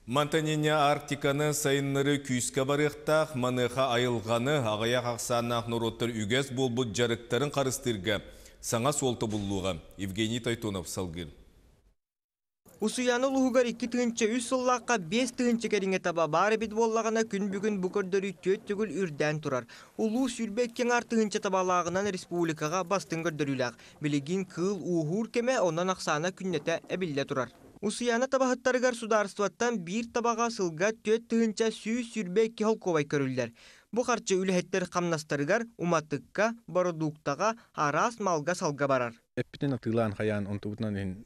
Мантан инньэ Арктиканы сайыннарыы күүскэ барыахтаах, маныаха айылҕаны, аҕыйах ахсааннаах норуоттар үгэс буолбут дьарыктарын харыстыырга саҥа суол тобуллуоҕа. Евгений Тойтонов салгыыр. Усуйаана улууһугар икки тыһыынча үс сыллаахха биэс тыһыынча кэриҥэ таба баар эбит буоллаҕына, күн бүгүн бу көрдөрүү түөрт төгүл үрдээн турар. Улуус сүүрбэ икки аҥаар тыһыынча табалааҕынан республикаҕа бастыҥ көрдөрүүлээх. Билигин кыыл ууһуур кэмэ, онон ахсаана күннэтэ эбиллэ турар. Усуйаана табаһыттарыгар судаарыстыбаттан биир табаҕа сылга түөрт тыһыынча сүүс сүүрбэ икки холкуобай көрүллэр. Бу харчы үлэһиттэр хамнастарыгар, уматыкка, бородууктаҕа, араас малга-салга барар. Эппитин атыылаан хайаан онтубутунан иһин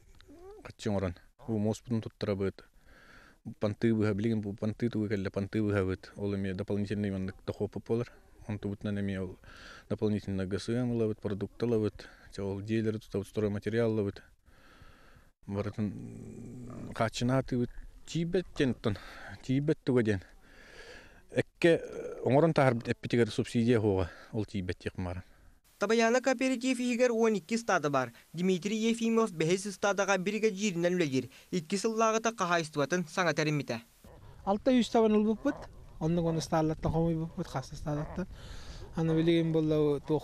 харчы оҥорон. Бу муоспутун туттарабыт. Панты быһа билигин бу панты тугу кэллэ панты быһабыт. Ол эмиэ дополнительный маннык дохуоппут буолар. Онтубутунан эмиэ ол дополнительно ГСМ ылабыт, продукт ылабыт, ол дьиэлэри тутабыт, стройматериал ылабыт. Барытын хааччынаатыбыт тиийбэт диэн оттон тиийбэт туга диэн. Экке оҥорон таһаарбыт эппитигэр субсидия хуоҕа ол тиийбэт диэх мааран. Табайаана кооператив иһигэр уон икки ыстаада баар. Дмитрий Ефимов бэһис ыстаадаҕа биригэдьииринэн үлэлиир. Икки сыллааҕыта хаһаайыстыбатын саҥа тэриммитэ. Алта үс табан ылбыппыт. Оннук оны ыстааллаттан хомуйбуппут, хас ыстааллаттан. Аны билигин буолла туох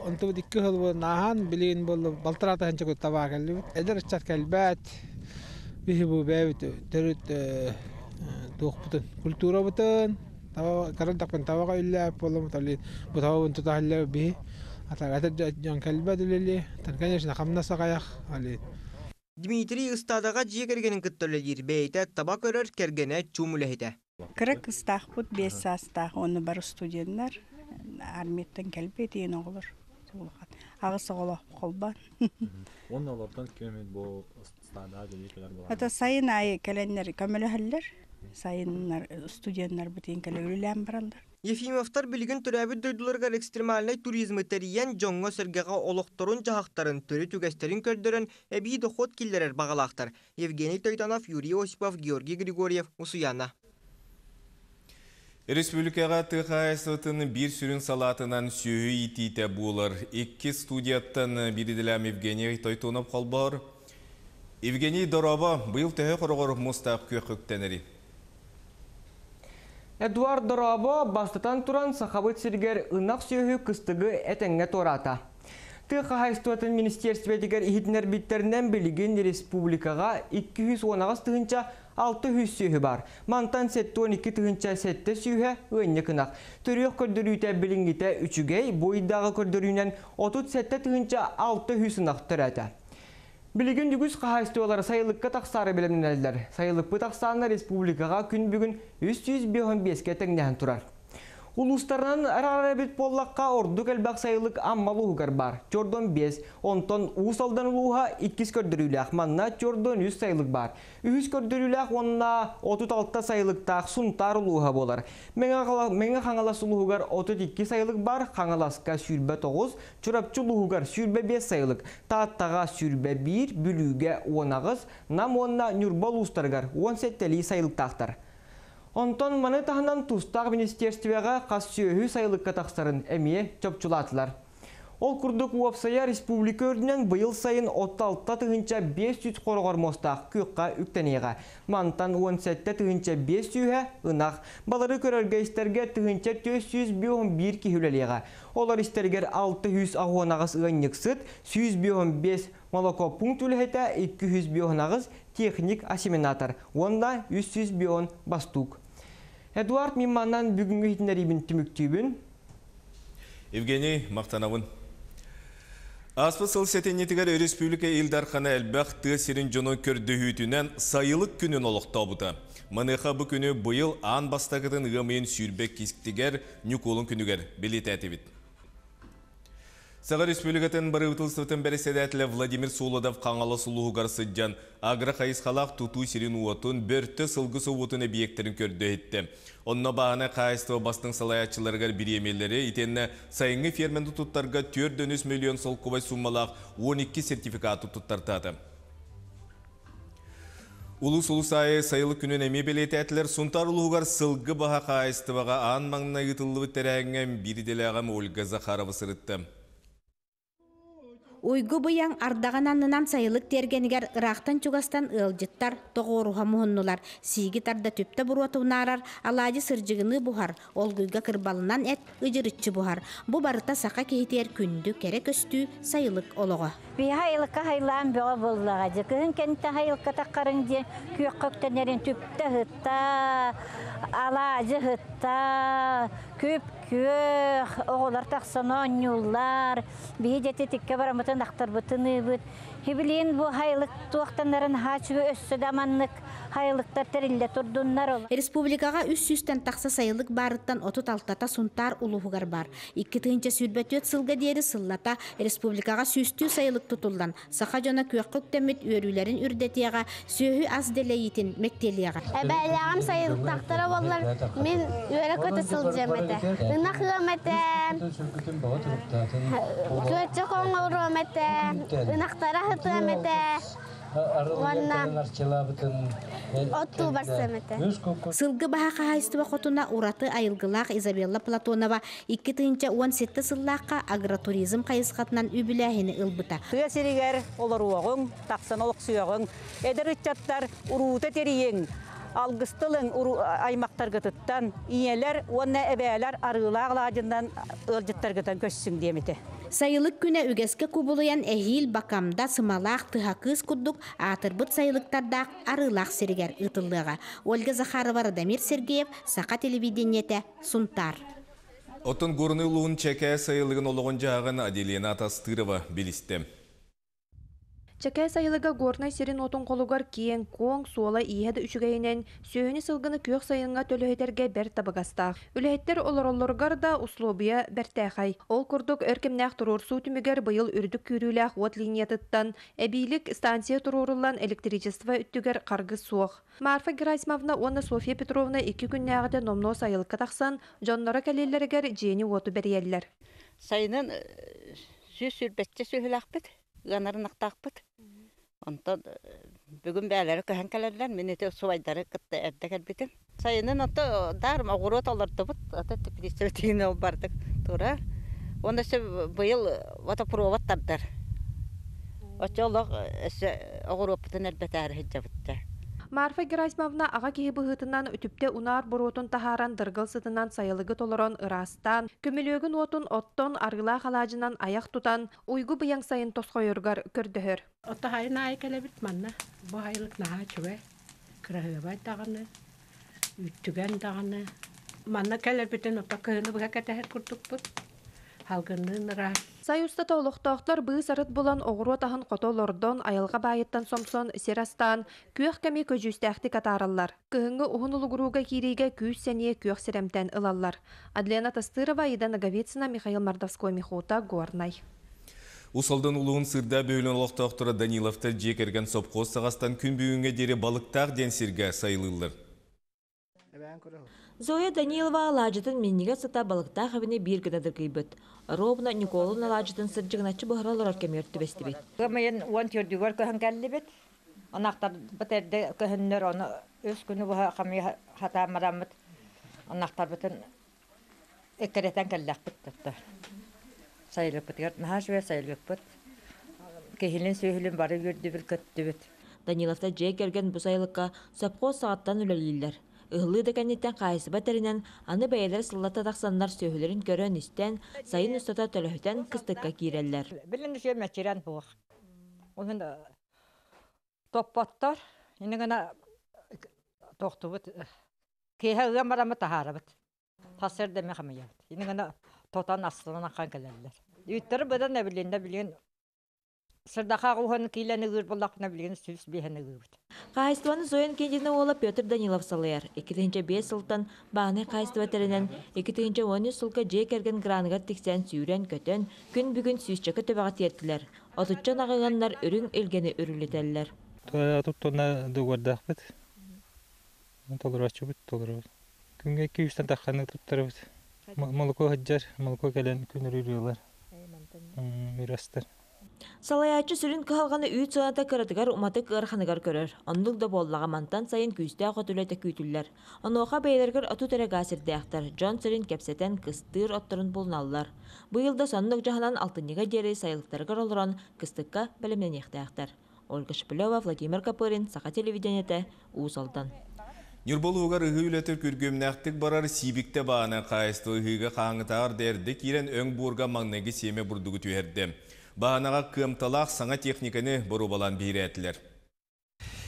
онтубут икки сыл буолла нааһан билигин буолла балтараата ханча көт табаа кэллибит. Эдэр ыччат кэлбэт. Биһи бу бэйэбит төрүт туохпутун, культурабытын, таба карандакпын табаҕа үллээп буолламмыт али бу табабын тута халлаа биһи. Атак эдэр дьон кэлбэт үлэли. Тан конечно хамнас аҕайах али. Дмитрий ыстаадаҕа дьиэ кэргэнин кытта үлэлиир. Бэйэтэ таба көрөр, кэргэнэ чуум үлэһитэ. Кыра кыыстаахпыт биэс саастаах, уонна бары студеннар, армияттан кэлбит диэн оҕолор. Аҕыс оҕолоох холбоон. Уонна олортон ким бу ыстаадаҕа үлэлии кэлэр буолар? Это сайын аайы кэлэннэр көмөлөһөллөр. Сайыннар студеннар бутин кэлэ үлэлээн бараллар. Ефимовтар билигин төрөөбүт дойдуларыгар экстремальнай туризмы тэрийэн дьоҥҥо сэргэҕэ олохторун дьаһахтарын, төрүт үгэстэрин көрдөрөн эбии дохуот киллэрэр баҕалаахтар. Евгений Тойтонов, Юрий Осипов, Георгий Григорьев, Усуйаана. Республикаҕа тыа хаһаайыстыбатын биир сүрүн салаатынан сүөһү иитиитэ буолар. Икки студияттан биир идэлээх Евгений Тойтонов холбоор. Евгений, дорообо, быйыл төһө хороҕор муостаах күөххэ үктэнэрий? Эдуард, дорообо, бастатан туран Сахабыт сиригэр ынах сүөһү кыстыгы этэҥҥэ туораата. Тыа хаһаайыстыбатын министиэристибэтигэр иһитиннэрбиттэринэн билигин республикаҕа икки сүүс уон аҕыс тыһыынча алта сүүс сүөһү баар. Мантан сэттэ уон икки тыһыынча сэттэ сүүһэ ыанньык ынах. Төрүөх көрдөрүүтэ билиҥҥитэ үчүгэй, бу ыйдааҕы көрдөрүүнэн отут сэттэ тыһыынча алта сүүс ынах төрөөтө. Билигин үгүс хаһаайыстыбалар сайылыкка тахсаары бэлэмнэнэллэр. Сайылыкпыт ахсаана республикаҕа күн бүгүн үс сүүс биэс биэскэ тэҥнэһэн турар. Улуустарынан араарар эбит буоллахха, ордук элбэх сайылык Амма улууһугар баар. Чордон биэс, онтон Уус Алдан улууһа иккис көрдөрүүлээх. Манна чордон үс сайылык баар. Үһүс көрдөрүүлээх уонна отут алта сайылыктаах Сунтаар улууһа буолар. Мэҥэ Хаҥалас улууһугар отут икки сайылык баар, Хаҥаласка сүүрбэ тоҕус, Чурапчы улууһугар сүүрбэ биэс сайылык, Тааттаҕа сүүрбэ биир, Бүлүүгэ уон аҕыс, Нам уонна Ньурба улуустарыгар уон сэттэлии сайылыктаахтар. Онтон маны таһынан тустаах министерствоҕа хас сүөһү сайылыкка тахсарын эмиэ чопчулаатылар. Ол курдук уопсайа республика үрдүнэн быйыл сайын отут алта тыһыынча биэс сүүс хороҕор муостаах күөххэ үктэниэҕэ. Мантан уон сэттэ тыһыынча биэс сүүһэ ынах. Балары көрөргө истэргэ тыһыынча түөрт сүүс биэс биир киһи үлэлиэҕэ. Олор истэригэр алта сүүс уон аҕыс ыанньыксыт, сүүс биэс биэс молоко пункт үлэһитэ, икки сүүс биэс аҕыс техник осеменатор уонна үс сүүс биэс бастук. Эдуард Мимманнан бүгүҥҥү иһитиннэриибин түмүктүүбүн. Евгений махтанабын. Ааспыт сыл сэтинньитигэр республика Ил Дархана элбэх тыа сирин дьонун көрдөһүүтүнэн сайылык күнүн олохтообута. Маныаха бу күнү быйыл аан бастакытын ыам ыйын сүүрбэ иккитигэр Ньукуолун күнүгэр бэлиэтээтибит. Саха Республикатын бырабыыталыстыбатын бэрэссэдээтэлэ Владимир Солодов Хаҥалас улууһугар сылдьан агро-хайысхалаах тутуу сирин уотун, Бөртө сылгы собуотун эбийиэктэрин көрдө иһиттэ. Онно бааһынай хаһаайыстыба бастыҥ салайааччыларыгар бириэмийэлэри итиэннэ сайыҥҥы ферманы туттарга түөрт үс миллион солкуобай сууммалаах уон икки сертификаты туттартаата. Улуус улуус аайы сайылык күнүн эмиэ бэлиэтээтилэр. Сунтаар улууһугар сылгы баһа хаһаайыстыбаҕа аан маҥнай ыытыллыбыт тэрээһиҥҥэ биир идэлээҕим Ольга Захарова сырытта. Уйгу быйаҥ ардаҕын аннынан сайылык тиэргэнигэр ыраахтан чугастан ыалдьыттар тоҕуоруһа муһуннулар. Сииги тарда түптэ буруота унаарар, алаадьы сырдьыгыныы буһар, олгуйга кырбалынан эт ыдьырыччы буһар. Бу барыта саха киһитигэр күндү, кэрэ көстүү сайылык олоҕо. Биһи айылыкка хайлаан бөҕө буоллаҕа дьэ. Кыһын кэнтэ айылыкка таххарыҥ диэн күөххэ үктэнэрин түптэ ыһытта, алаадьы ыһытта, күп күөх, оҕолор тахсан оонньууллар. Биһи дьэти тиккэ бараммытын ахтарбытын ыыбыт. Хибилиин бу хайылык туохтаннарын хаачыгы өссө да маннык хайылыктар тэриллэ турдуннар. Республикаҕа үс сүүстэн тахса сайылык баарыттан отут алтата Сунтаар улууһугар бар. Икки тыһыынча сүүрбэ түөрт сылга диэри сыллата республикаҕа сүүстүү сайылык тутуллан, саха дьоно күөххэ үктэммит үөрүүлэрин үрдэтиэҕэ, сүөһү ас дэлэйиитин мэктиэлиэҕэ. Эбээлээҕим сайылыктаахтара буоллар, мин үөрэ көтө сылдьыам этэ. Ынах ыам этэ, күөччэх оҥоруом этэ, ынахтара ыһытыам этэ, уонна оттуу барсыам этэ. Сылгы баһа хаһаайыстыба хотуна ураты айылгылаах Изабелла Платонова икки тыһыынча уон сэттэ сыллаахха агротуризм хайысхатынан үбүлээһини ылбыта. Тыа сиригэр олоруоҕуҥ, тахсан олохсуйоҕуҥ, эдэр ыччаттар уруута тэрийиҥ, алгыстылыҥ аймактаргытыттан, ийэлэр уонна эбээлэр арыылаах алаадьынан ыалдьыттаргытан көссүҥ диэмите. Сайылык күнэ үгэскэ кубулуйан эһиил бакамда сымалаах тыһа кыыс курдук аатырбыт сайылыктардаах арыылаах сиригэр ыытыллыаҕа. Ольга Захарова, Радомир Сергеев, Саха телевидениетэ, Сунтаар. Оттон Горный улууһун Чэкээ сайылыгын олоҕун дьаһаҕын Аделина Атастырова билистэ. Чэкээ сайылыга Горнай сирин уотун холугар киэҥ, куоҥ, суола ииһэ да үчүгэйинэн, сүөһүнү сылгыны күөх сайыҥҥа төлөһүтэргэ бэрт табыгастаах. Үлэһиттэр олороллоругар да услуобуйа бэртээхэй. Ол курдук өр кэмнээх туруорсуу түмүгэр быйыл үрдүк күүрүүлээх уот линиятыттан эбиилик станция туруоруллан электричество үттүгэр харгыс суох. Марфа Герасимовна уонна Софья Петровна икки күннээҕитэ номнуо сайылыкка тахсан, дьонноро кэлииллэригэр дьиэни уоту бэрийэллэр. Сайынын сүүс сүүрбэччэ сүөһүлээхпит, ыанарын ахтаахпыт. Онтон бүгүн бээлэри көһөн кэлэллэр, мин ити субайдары кытта эрдэ кэлбитим. Сайынын ото дар оҕуруот олордубут, ото теплица ол бардык турар. Онно өссө быйыл водопровод тардар. Оччо олох өссө оҕуруоппутун элбэтээри сылдьабыт. Марфа Герасимовна аҕа киһи быһыытынан үтүптэ унаар буруотун таһааран дыргыл сытынан сайылыгы толорон ыраастаан, көмүлүөгүн уотун оттон арыылаах алаадьынан аяк тутан, уйгу быйаҥ сайын тосхойоругар көрдөһөр. Отто хайын аайы кэлэбит манна, бу айылык наһаа үчүгэй, кыраһыабай даҕаны, үттүгэн даҕаны. Манна кэлэрбитин отто кыһыны быһа кэтэһэр курдукпут, халгынныын ыраас. Сай устата олохтоохтор быыс арыт булан оҕуруот аһын хото олордон, айылҕа баайыттан сомсон, сир астаан, күөх кэми көдьүүстээхтик атаараллар. Кыһыҥҥы уһун улугурууга киириигэ күүс-сэниэ күөх сирэмтэн ылаллар. Адлена Тастырова, Аида Ноговицына, Михаил Мордовской, Михута, Горнай. Уус Алдан улууһун Сыырдаах бөһүөлэгин олохтоохторо Даниловтар дьиэ кэргэн сопхуос саҕастан күн бүгүҥҥэ диэри Балыктаах диэн сиргэ сайылыыллар. Зоя Данилова алаадьытын минньигэс сыта Балыктаах эбэни биир гына дыргыйбыт. Оруобуна Ньукуолун алаадьытын сырдьыгыначчы буһара олорор кэмигэр түбэстибит. Ыам уон төрдүгэр көһөн кэллибит. Ынахтарбыт эрдэ көһөннөр, ону үс күнү быһа хамыйа хатаан бараммыт. Ынахтарбытын эккирэтэн кэллэхпит тутта. Сайылыкпытыгар наһаа үчүгэй сайылыкпыт. Киһилин сүөһүлүн бары үөрдүбүт, көттүбүт. Даниловтар дьиэ кэргэн бу сайылыкка сопхуос саҕаттан үлэлииллэр. Ыһыллыы да кэнниттэн хаһаайыстыба тэринэн, аны бэйэлэрэ сыллата тахсаннар сүөһүлэрин көрөн-истэн, сайын устата төлөһүтэн кыстыкка киирэллэр. Билин үчүгэй мэччирэн суох. Онон топпоттор, ини гына тохтубут. Киэһэ ыам бараммыт таһаарабыт. Тасыр деме хамыйабыт. Ини гына тотан астынан аккан кэлэллэр. Үүттэр быдан эбилинде билин сырдаха уһун киилени ыыр буллахпына билигин сүүс биэһин ыыбыт. Хаһаайыстыбаны Зоя Иннокентьевна уола Петр Данилов салайар. Икки тыһыынча биэс сылтан бааһынай хаһаайыстыба тэринэн, икки тыһыынча уон үс сылга дьиэ кэргэн граныгар тиксэн сүүрэн-көтөн, күн бүгүн сүүсчэкэ төбөҕө тиэртилэр. Отучча ынаҕы ыаннар үрүҥ илгэни үрүлүтэллэр. Туттуна дугуордаахпыт. Толорооччубут, толоробут. Күҥҥэ икки үстэн тахханы туттарабыт. Молоко сылдьар, молоко кэлэн күн үрүлүөлэр. Мирастар. Салайааччы сүрүн кыһалҕаны үүт сыаната кыратыгар уматык ыараханыгар көрөр. Оннук да буоллаҕа мантан сайын күүстээх от үлэтэ күүтүллэр. Онуоха бэйэлэригэр отут эрэ гаа сирдээхтэр, дьон сирин кэпсэтэн кыстыыр отторун булуналлар. Быйыл да соннук дьаһанан алтынньыга диэри сайылыктарыгар олорон кыстыкка бэлэмнэниэхтээхтэр. Ольга Шепелева, Владимир Копырин, Саха телевидениетэ, Уус Алдан. Ньурба улууһугар ыһыы үлэтэ күргүөмнээхтик барар. Сиибиктэ бааһынай хаһаайыстыба ыһыыга хаһааҥҥытааҕар да эрдэ киирэн өҥ буорга маҥнайгы сиэмэ бурдугу түһэрдэ. Бааһынаҕа кыамталаах саҥа техниканы боруобалаан биһирээтилэр.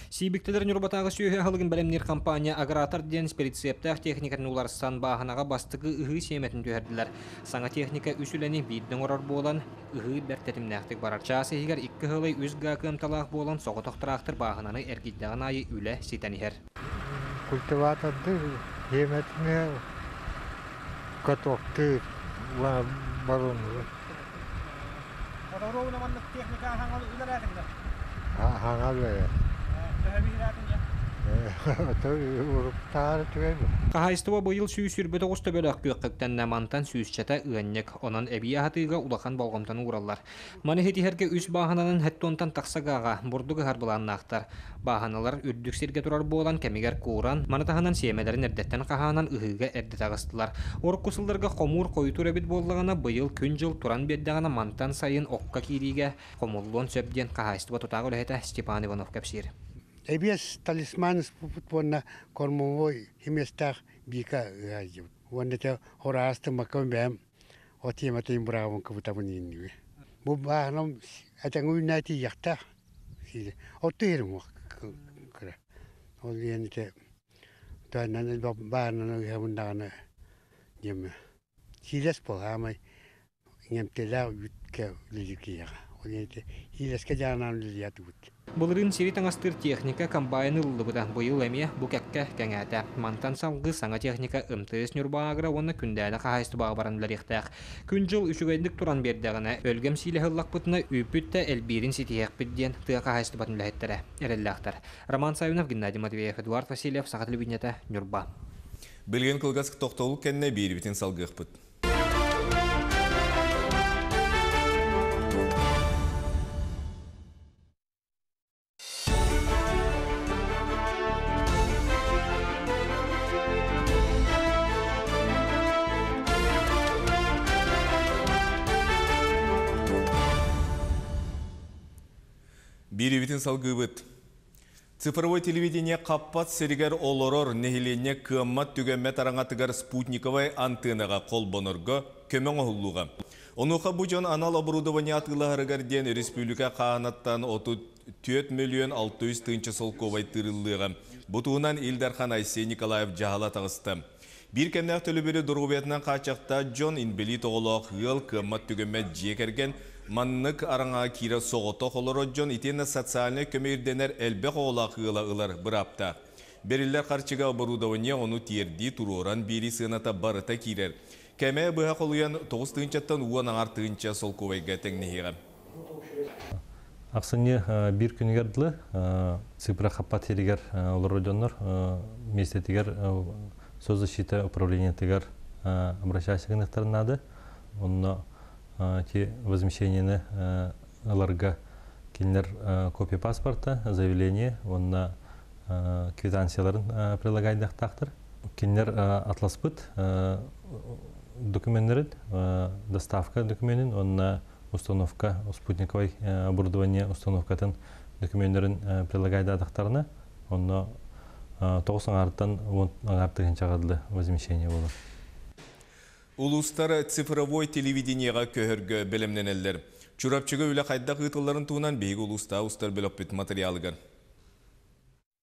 Сиибиктэлэр Ньурбатааҕы сүөһү аһылыгын бэлэмниир компания Агратор диэн прицептээх техникатын уларсан бааһынаҕа бастакы ыһыы сиэмэтин түһэрдилэр. Саҥа техника үс үлэни биирдэ оҥорор буолан, ыһыы бэрт тэтимнээхтик барар. Чаас иһигэр икки ыһылай үс гаа кыамталаах буолан соҕотох тыраахтыр бааһынаны эргийдэҕин аайы үлэ ситэн иһэр. Культиваторды сиэмэтин катоктыыр баронугу. Техника Хаҥал Хаһаайыстыба быйыл сүүс сүүрбэ тоҕус төбөлөөх күөххэ үктэннэ, мантан сүүсчэтэ ыанньык. Онон эбии аһатыыга улахан болҕомтону уураллар. Маны ситиһэргэ үс бааһынанан сэттэ уонтан тахса гааҕа бурдук ыһар былааннаахтар. Бааһыналар үрдүк сиргэ турар буолан кэмигэр кууран, маны таһынан сиэмэлэрин эрдэттэн хаһаанан ыһыыга эрдэ таҕыстылар. Урукку сылларга хомуур хойутуур эбит буоллаҕына, быйыл күн-дьыл туран биэрдэҕинэ мантан сайын окко киириигэ хомуллуон сөп диэн хаһаайыстыба тутаах үлэһитэ Степан Иванов кэпсиир. Эбиэс талисман уонна кормовой химиэстээх бика ыһаайдыбыт. Уонна те хораасты маккам бэм о тематын бравын кыбытабын инниби. Бу бааһынам этеҥ үүнээти яхтаах. Отту ерим кыра. Ол диэн те туаннан баарынан ыһабын диэме. Сиилэс болаамай иҥэмтэлээх үүткэ үлэлиир. Ол диэн те сиилэске жаанан үлэлиятыбыт. Былырыын сири таҥастыыр техника комбайн ылыллыбыта. Быйыл эмиэ бу кэккэ кэҥээтэ. Мантан салгыы саҥа техника МТС Ньурба Агро уонна Күндээдэ хаһаайыстыбаҕа баран үлэлиэхтээх. Күн-дьыл үчүгэйдик туран биэрдэҕинэ, өлгөм сиилэһи ыллахпытына үүппүт да элбиирин ситиһиэхпит диэн тыа хаһаайыстыбатын үлэһиттэрэ эрэллээхтэр. Роман Савинов, Геннадий Матвеев, Эдуард Васильев, Саха телевидениетэ, Ньурба. Билигин кылгас тохтобул кэннэ биэриибитин салгыахпыт. Биэриибитин салгыыбыт. Цифровой телевидение хаппат сиригэр олорор нэһилиэнньэ кыаммат түгэммэт араҥатыгар спутниковай антеннаҕа холбонорго көмө оҥоһуллуоҕа. Онуоха бу дьон анал оборудование атыылаһарыгар диэн республика хааһынаттан отут түөрт миллион алта жүз тыһыынча солкуобай тыырыллыаҕа. Бу туһунан Ил Дархан Айсен Николаев дьаһала таҕыста. Биир кэмнээх төлөбүрү доруобуйатынан хааччахтаах дьон, инбэлиит оҕолоох ыал, кыаммат түгэммэт дьиэ кэргэн, маннык араҥаҕа киирэр соҕотох олорор дьон итиэннэ социальнай көмө ирдэнэр элбэх оҕолоох ыала ылар бырааптаах. Бэриллэр харчыга оборудование, ону тиэрдии, туруоран биэрии сыаната барыта киирэр. Кээмэйэ быһа холуйан тоҕус тыһыынчаттан уон аҥаар тыһыынча солкуобайга тэҥнэһиэҕэ. Ахсынньы биир күнүгэр дылы цифра хаппат сиригэр олорор дьоннор миэстэтигэр соцзащита управлениетыгар обращайся гыныахтарын наада. Онно ти возмещениены ыларга кинилэр копия паспорта, заявление уонна квитанцияларын прилагайдахтаахтар. Кинилэр атласпыт докуменнарын, доставка документин уонна установка спутниковой оборудование установкатын докуменнарын прилагайдаатахтарына, онно тоҕус аҥаартан уон аҥаар тыһыынчаҕа дылы возмещение буолар. Улуустар цифровой телевидениеҕа көһөргө бэлэмнэнэллэр. Чурапчыга үлэ хайдах ыытылларын туһунан биһиги улуустааҕы устар бөлөхпүт материалыгар.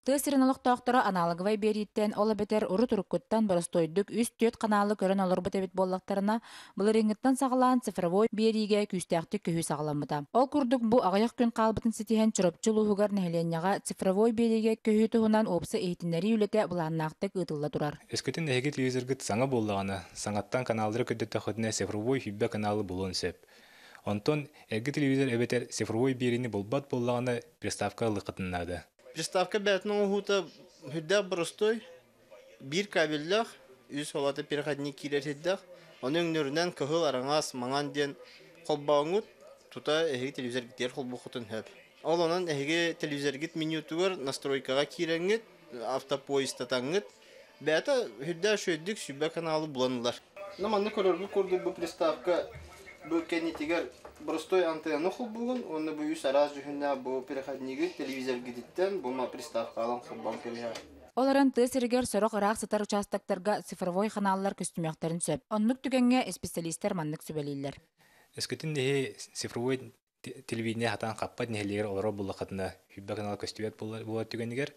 Тыа сирин олохтоохторо аналоговай биэрииттэн, ол эбэтэр урут-уруккуттан боростуойдук үс-түөрт ханаалы көрөн олорбут эбит буоллахтарына, былырыыҥҥыттан саҕалаан цифровой биэриигэ күүстээхтик көһүү саҕаламмыта. Ол курдук бу аҕыйах күн хаалбытын ситиһэн Чурапчы улууһугар нэһилиэнньэҕэ цифровой биэриигэ көһүү туһунан уопсай иһитиннэрии үлэтэ былааннаахтык ыытылла турар. Өскөтүн эһиги телевизоргыт саҥа буоллаҕына, саҥаттан каналлары көрдөтөххүтүнэ цифровой сүүрбэ каналы булуон сөп. Онтон эргэ телевизор эбэтэр цифровой биэриини булбат буоллаҕына, приставка ылыаххытын наада. Приставка бэйэтин оҥоһуута сүрдээх боростуой, биир кабеллээх, үс холото переходник киирэр сирдээх, ону өҥнөрүнэн кыһыл, араҥас, маҥан диэн холбооҥҥут тута эһиги телевизоргитигэр холбуоххутун сөп. Ол онон эһиги телевизоргит менютугар настройкаҕа киирэҥҥит, автопоистатаҥҥыт, бэйэтэ сүрдээх үчүгэйдик сүүрбэ каналы булан ылар. Манна көрөргүт курдук бу приставка бу кэннитигэр простой антенна холбугун, уонна бу үс араас дьүһүннээх бу переходнигы телевизоргититтэн бу приставка алан холбоон кэбиһэр. Ол эрэн тыа сиригэр сорох ыраах сытар участоктарга цифровой ханааллар көстүмүөхтэрин сөп. Оннук түгэҥҥэ специалистэр маннык сүбэлииллэр. Өскөтүн эһи цифровой телевидение хатаан хаппат нэһилиэгэр олорор буоллаххытына, сүүрбэ канал көстүбэт буолар түгэнигэр,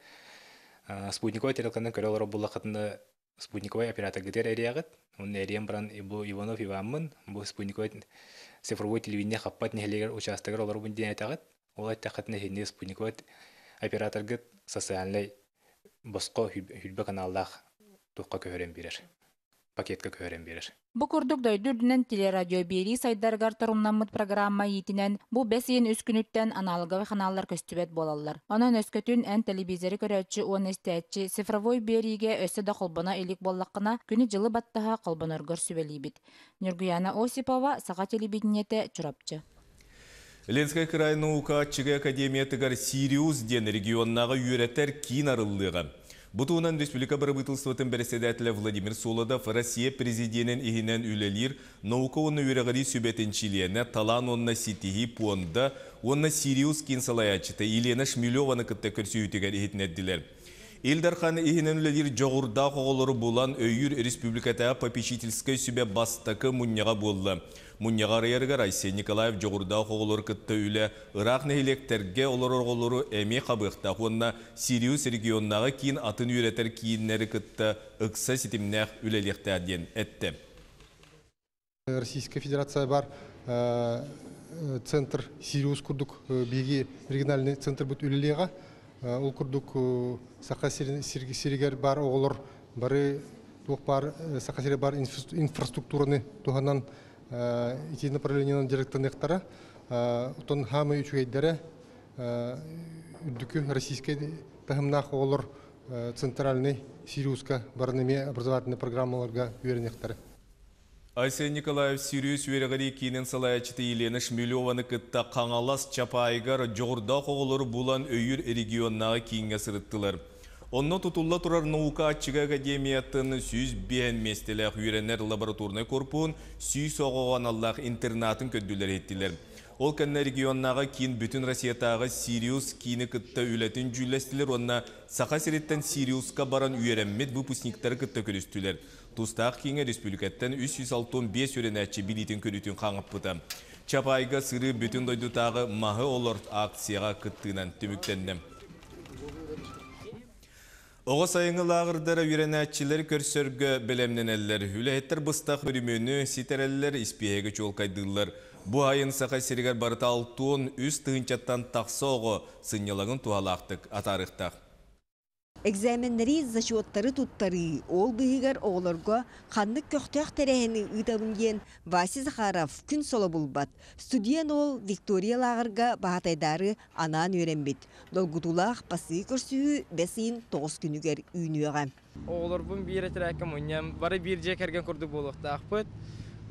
спутниковай тарелканан көрө олорор буоллаххытына, спутниковай операторгытыгар эрийэҕит. Онно эрийэн баран бу Иванов Иваммын, бу спутниковай цифровой телевидение хаппат нэһилиэгэр учаастагар олоробун диэн этэҕит. Ол эттэххитинэ эһиги спутниковай операторгыт социальнай босхо сүүрбэ каналлаах туохха көһөрөн биэрэр, пакетка көһөрөн биэрэр. Бу курдук дойду үрдүнэн телерадиобиэрии сайдарыгар торумнаммыт программа иитинэн бу бэс ыйын үс күнүттэн аналоговай ханааллар көстүбэт буолаллар. Онон өскөтүн эн телевизоры көрөөччү уонна истээччи цифровой биэриигэ өссө да холбоно илик буоллаххына, күнү-дьылы баттаһа холбоноргор сүбэлиибит. Ньургуяна Осипова, Саха телевидениетэ, Чурапчы. Ленскэй кыраай наука аччыгый академиятыгар Сириус диэн регионнааҕы үөрэтэр киин арыллыаҕа. Бу туһунан республика бырабыыталыстыбатын бэрэссэдээтэлэ Владимир Солодов Россия президенин иһинэн үлэлиир наука уонна үөрэҕирии сүбэтин чилиэнэ, талаан уонна ситиһии пуонда уонна Сириус киин салайааччыта Елена Шмелеваны кытта көрсүһүүтүгэр иһитиннэрдилэр. Ил Дархан иһинэн үлэлиир дьоҕурдаах оҕолору булан өйүүр республикатааҕы попечительскай сүбэ бастакы мунньаҕа буолла. Мунньаҕы арыйарыгар Айсен Николаев дьоҕурдаах оҕолору кытта үлэ ыраах нэһилиэктэргэ олорор оҕолору эмиэ хабыахтаах уонна Сириус регионнааҕы киин атын үөрэтэр кииннэри кытта ыкса ситимнээх үлэлиэхтээх диэн эттэ. Российская Федерация бар центр Сириус курдук биһиги региональный центр бут үлэлиэҕэ. Ол курдук Саха сиригэр бар оҕолор бары туох бар Саха сиригэр бар инфраструктураны туһанан ити направлениенан дьарыктаныахтара. Оттон хаамай үчүгэйдэрэ үрдүкү российскай таһымнаах оҕолор центральный Сириуска баран эмиэ образовательный программаларга үөрэниэхтэрэ. Айсен Николаев Сириус үөрэҕирии киинин салайааччыта Елена Шмелеваны кытта Хаҥалас Чапаайыгар дьоҕурдаах оҕолору булан өйүүр регионнааҕы кииҥҥэ сырыттылар. Онно тутулла турар наука аччыгый академиятын сүүс биэс миэстэлээх үөрэнэр лабораторнай корпуһун сүүс оҕоҕо аналлаах интернатын көрдүлэр иһиттилэр. Ол кэннэ регионнааҕы киин бүтүн Россиятааҕы Сириус киини кытта үлэтин дьүүллэстилэр уонна Саха сириттэн Сириуска баран үөрэммит выпускниктары кытта көрүстүлэр. Тустаах кииҥҥэ республикаттан үс сүүс алта уон биэс үөрэнээччи билиитин көрүүтүн хаҥаппыта. Чапаайга сырыы бүтүн дойдутааҕы маһы олорт акцияҕа кыттыынан түмүктэннэ. Оҕо сайыҥҥы лааҕырдара үөрэнээччилэри көрсөргө бэлэмнэнэллэр. Үлэһиттэр быстах өрөмүөнү ситэрэллэр, испииһэги чуолкайдыыллар. Бу айын Саха сиригэр барыта алтан үс тыһыынчаттан тахса оҕо сынньалаҥын туһалаахтык атаарыахтаах. Экзаменнэри, зачеттары туттарыы, ол быыһыгар оҕолорго ханнык көхтөөх тэрээһини ыытабын диэн Вася Захаров күн соло булбат. Студент уол Виктория лааҕырга баһаатайдаары анаан үөрэммит. Долгутуулаах бастакы көрсүһүү бэс ыйын тоҕус күнүгэр үүнүөҕэ. Оҕолорбун биир этэрээккэ мунньан, бары биир дьиэ кэргэн курдук буолуохтаахпыт.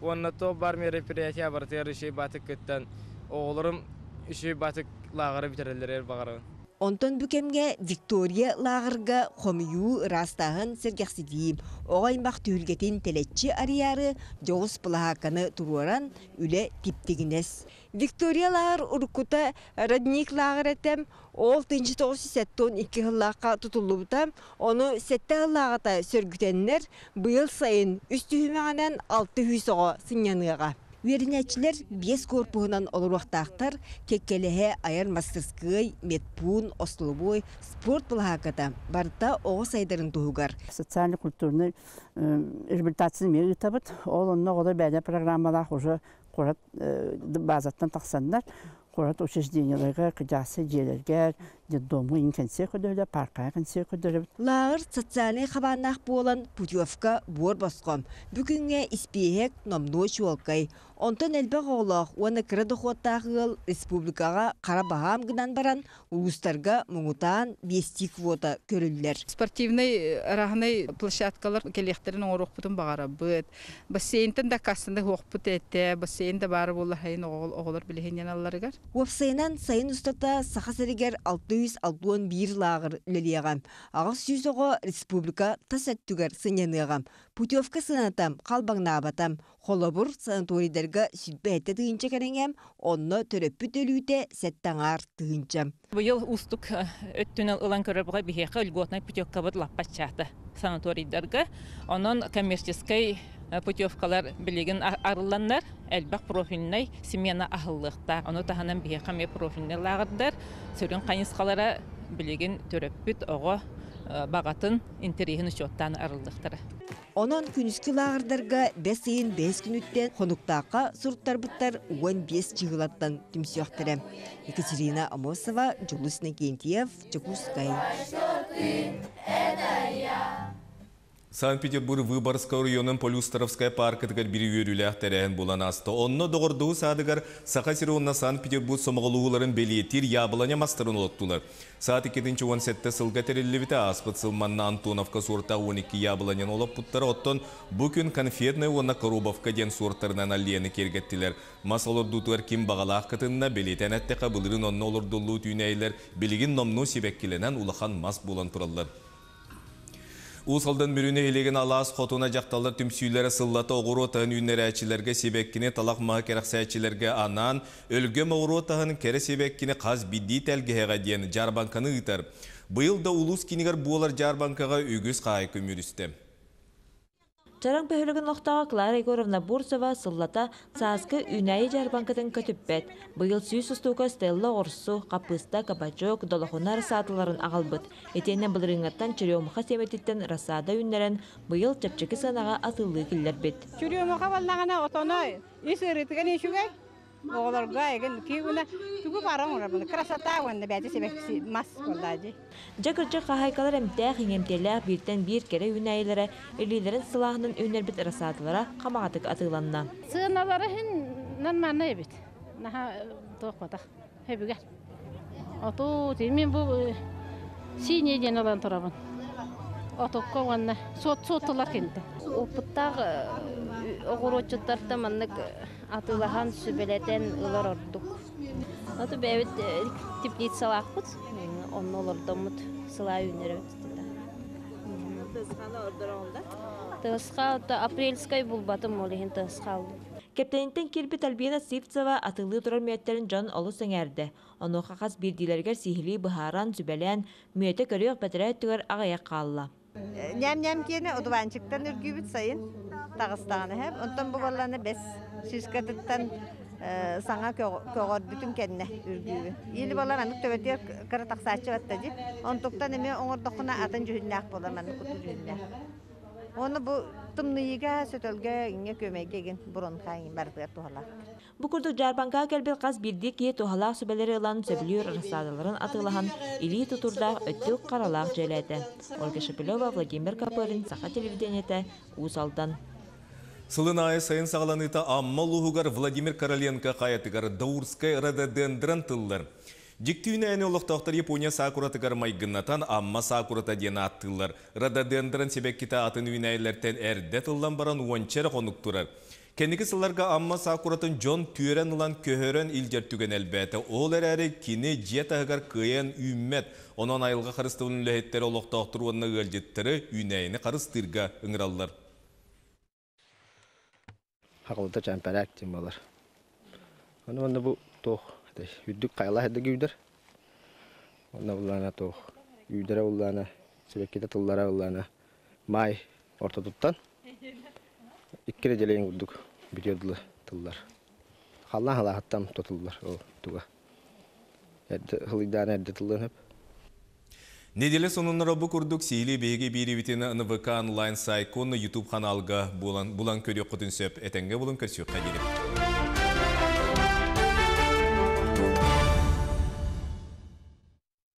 Уонна то бар мероприятие барытыгар үчүгэй баҕайытык кыттан, оҕолорум үчүгэй баҕайытык лааҕыры бүтэрэллэригэр баҕарабын. Онтон бу кэмҥэ Виктория лааҕырга хомуйуу, ыраастааһын, сэргэхситии, оҕо аймах түһүлгэтин тэлэччи арыйаары дьоҕус былаһаакканы туруоран үлэ типтигинэс. Виктория лааҕыр уруккута Родник лааҕыр этэ, ол тыһыынча тоҕус сүүс сэттэ уон икки сыллаахха тутуллубута. Ону сэттэ сыллааҕыта сөргүтэннэр, быйыл сайын үс түһүмэҕинэн алта сүүс оҕо сынньаныаҕа. Үөрэнээччилэр биэс корпуһунан олоруохтаахтар, кэккэлэһэ айар мастырскыай, медпуун, остолобуой, спорт былаһаакката барыта оҕо сайдарын туһугар. Социально-культурный реабилитацияны эмиэ ыытабыт. Ол онно оҕолор бэйэлэрэ программалаах уже куорат базаттан тахсаннар, куорат учреждениеларга, кыдьаасы дьиэлэргэ, детдомҥа иҥ кэнсиэр көрдөрөллөр, паркаҕа кэнсиэр көрдөрөбүт. Лааҕыр социальнай хабааннаах буолан путевка буор босхо. Бу күҥҥэ испииһэк номнуо чуолкай. Онтон элбэх оҕолоох уонна кыра дохуоттаах ыал республикаҕа хара баһаам гынан баран, улуустарга муҥутаан биэстии квота көрүллэр. Спортивнай арааһынай площадкалар кэлиэхтэрин оҥоруохпутун баҕарабыт. Бассейнтан да кассаны хуохпут этэ, бассейн да баара буолла сайын оҕолор билиһинньэн алларыгар. Уопсайынан сайын устата Саха сиригэр алта сүүс алта уон биир лааҕыр үлэлиэҕэ. Аҕыс сүүс оҕо республика тас өттүгэр сынньаныаҕа. Путевка сыаната халбаҥнаабата. Холобур, санаторийдарга сүүрбэ сэттэ тыһыынча кэриҥэ, онно төрөппүт өлүүтэ сэттэ аҥаар тыһыынча. Быйыл уустук өттүнэн ылан көрөрбүгэ биһиэхэ льготнай путевкабыт лаппаччаата санаторийдарга. Онон коммерческий путевкалар билигин арылланнар, элбэх профильнай смена аһыллыахтаах. Ону таһынан биһиэхэ эмиэ профильнай лааҕырдар сүрүн хайысхалара билигин төрөппүт оҕо баҕатын интэриэһин учуоттаан арыллыахтара. Онон күнүскү лааҕырдарга бэс ыйын бэс күнүттэн хонуктаахха суруттарбыттар уон биэс чыһылаттан түмсүөхтэрэ. Екатерина Амосова, Дьулус Иннокентьев, Дьокуускай. Санкт-Петербург Выборгскай оройуонун Полюстровскай паркатыгар биир үөрүүлээх тэрээһин буолан ааста. Онно Доҕордоһуу саадыгар Саха сирэ уонна Санкт-Петербург сомоҕолоһууларын бэлиэтиир яблоня мастарын олортулар. Саад икки уон сэттэ сылга тэриллибитэ, ааспыт сыл манна Антоновка суортаах уон икки яблоняны олорпуттара. Оттон бу күн конфетная уонна коробовка диэн суортарынан аллеяны киэргэттилэр. Мас олордуутугар ким баҕалаах кытынна, бэлиэтээн эттэххэ, былырыын онно олордуллубут үүнээйилэр билигин номнуо сибэккилэнэн улахан мас буолан тураллар. Уус Алдан Мүрү нэһилиэгин Алаас Хотуна дьахталлар түмсүүлэрэ сыллата оҕуруот аһын үүннэрээччилэргэ сибэккини талах маһы кэрэхсээччилэргэ анаан өлгөм оҕуруот аһын кэрэ сибэккини хас биирдии тэлгэһэҕэ диэн дьаарбаҥканы ыытар. Быйыл да улуус киинигэр буолар дьаарбаҥкаҕа үгүс хаһаайка үмүрүстэ. Чараҥ бөһүөлэгин олохтооҕо Клара Егоровна Бурцева сыллата сааскы үүнээйи дьаарбаҥкатын көтүппэт. Быйыл сүүс устуука Стелла оҕурсу, хаппыыста, кабачок, долохуна рассадаларын аҕалбыт. Итиэннэ былырыыҥҥаттан черемуха сиэмэтиттэн рассада үүннэрэн, быйыл чэпчэки сыанаҕа атыылыы киллэрбит. Черемуха буоллаҕына отоно ис ыарыытыгар үчүгэй. Оҕолорго эгин киигуна тугу баран оҥоробун красота уонна бэйэтэ сибэкки мас буоллаа дии. Дьэ кырдьык хаһаайкалар эмтээх иҥэмтиэлээх бииртэн биир кэрэ үүнээйилэрэ илиилэрин сылааһынан үүннэрбит рассадалара хамаҕатык атыыланна. Сыаналара иһин нормально эбит. Наһаа туохпатах. Хөбүгэр. Оту мин бу синий диэн ылан турабын. Отукка уонна суот суоттулар кинитэ. Опыттаах оҕуруотчуттартан маннык атыылаһан сүбэлэтэн ылар ордук. Оту бэйэбит теплицалаахпыт, онно олордоммут сылаа үүннэрэбит. Тысха апрельскай булбатым, ол иһин тысха алдым. Кэптэнинтэн киирбит Альбина Сивцева атыылыы турар мүөттэрин дьон олус сэҥээрдэ. Онуоха хас биирдиилэригэр сиһилии быһааран, сүбэлээн, мүөтэ көрүөх бэтэрээ өттүгэр аҕыйах хаалла. Ньэм-ньэм киэнэ одуванчиктан үргүүбүт сайын таҕыстаҕына хэп. Онтон бу буоллаҕына бэс шишкатыттан Саҥа көҕөрбүтүн кэннэ үргүүбүн. Или болар маннык төбөтүгэр кыра тахсааччы батта дии. Онтуктан эмиэ оҥордоххуна атын дьүһүннээх буолар, маннык курдук дьүһүннээх. Уонна бу тымныйыга, сөтөлгө, иҥҥэ күөмэйгэ игин бронха иҥин барытыгар туһалаах. Бу курдук дьаарбаҥкаҕа кэлбит хас биирдии киһи туһалаах сүбэлэри ылан, сөбүлүүр рассадаларын атыылаһан, илии тутуурдаах өттүк харалаах дьиэлээтэ. Ольга Шепелева, Владимир Копырин, Саха телевидениетэ, Уус Алдан. Сылын аайы сайын саҕаланыыта Амма улууһугар Владимир Короленко хайатыгар Даурскай рододендрон тыллар. Дьикти үүнээйини олохтоохтор Япония сакуратыгар майгыннатан Амма сакурата диэн ааттыыллар. Рододендрон сибэккитэ атын үүнээйилэртэн эрдэ тыллан баран уонча эрэ хонук турар. Кэнники сылларга Амма сакуратын дьон түөрэн ылан көһөрөн илдьэр түгэн элбээтэ. Ол эрээри кини дьиэ таһыгар кыайан үүммэт. Онон айылҕа харыстабылын үлэһиттэрэ олохтоохтору уонна ыалдьыттары үүнээйини харыстыырга ыҥыраллар. Хақылыта чампарак диэн буолар. Ону манна бу туох үрдүк хайалаах эрдэ күүдэр. Онно буллаана туох үүдэрэ буллаана сибэккитэ тыллара буллаана маай ортотуттан икки нэдиэлэйин курдук бүтүөр дылы тыллар. Халлаан халааһыттан тутуллар ол туга. Эрдэ хылыйдаана эрдэ тыллан хөп. Неделе сонуннара бу курдук сиһилии биһиги биэриибитин Н В К онлайн сайтка уонна YouTube каналга булан, булан көрүөххүтүн сөп. Этэҥҥэ булун көрсүөххэ диэри.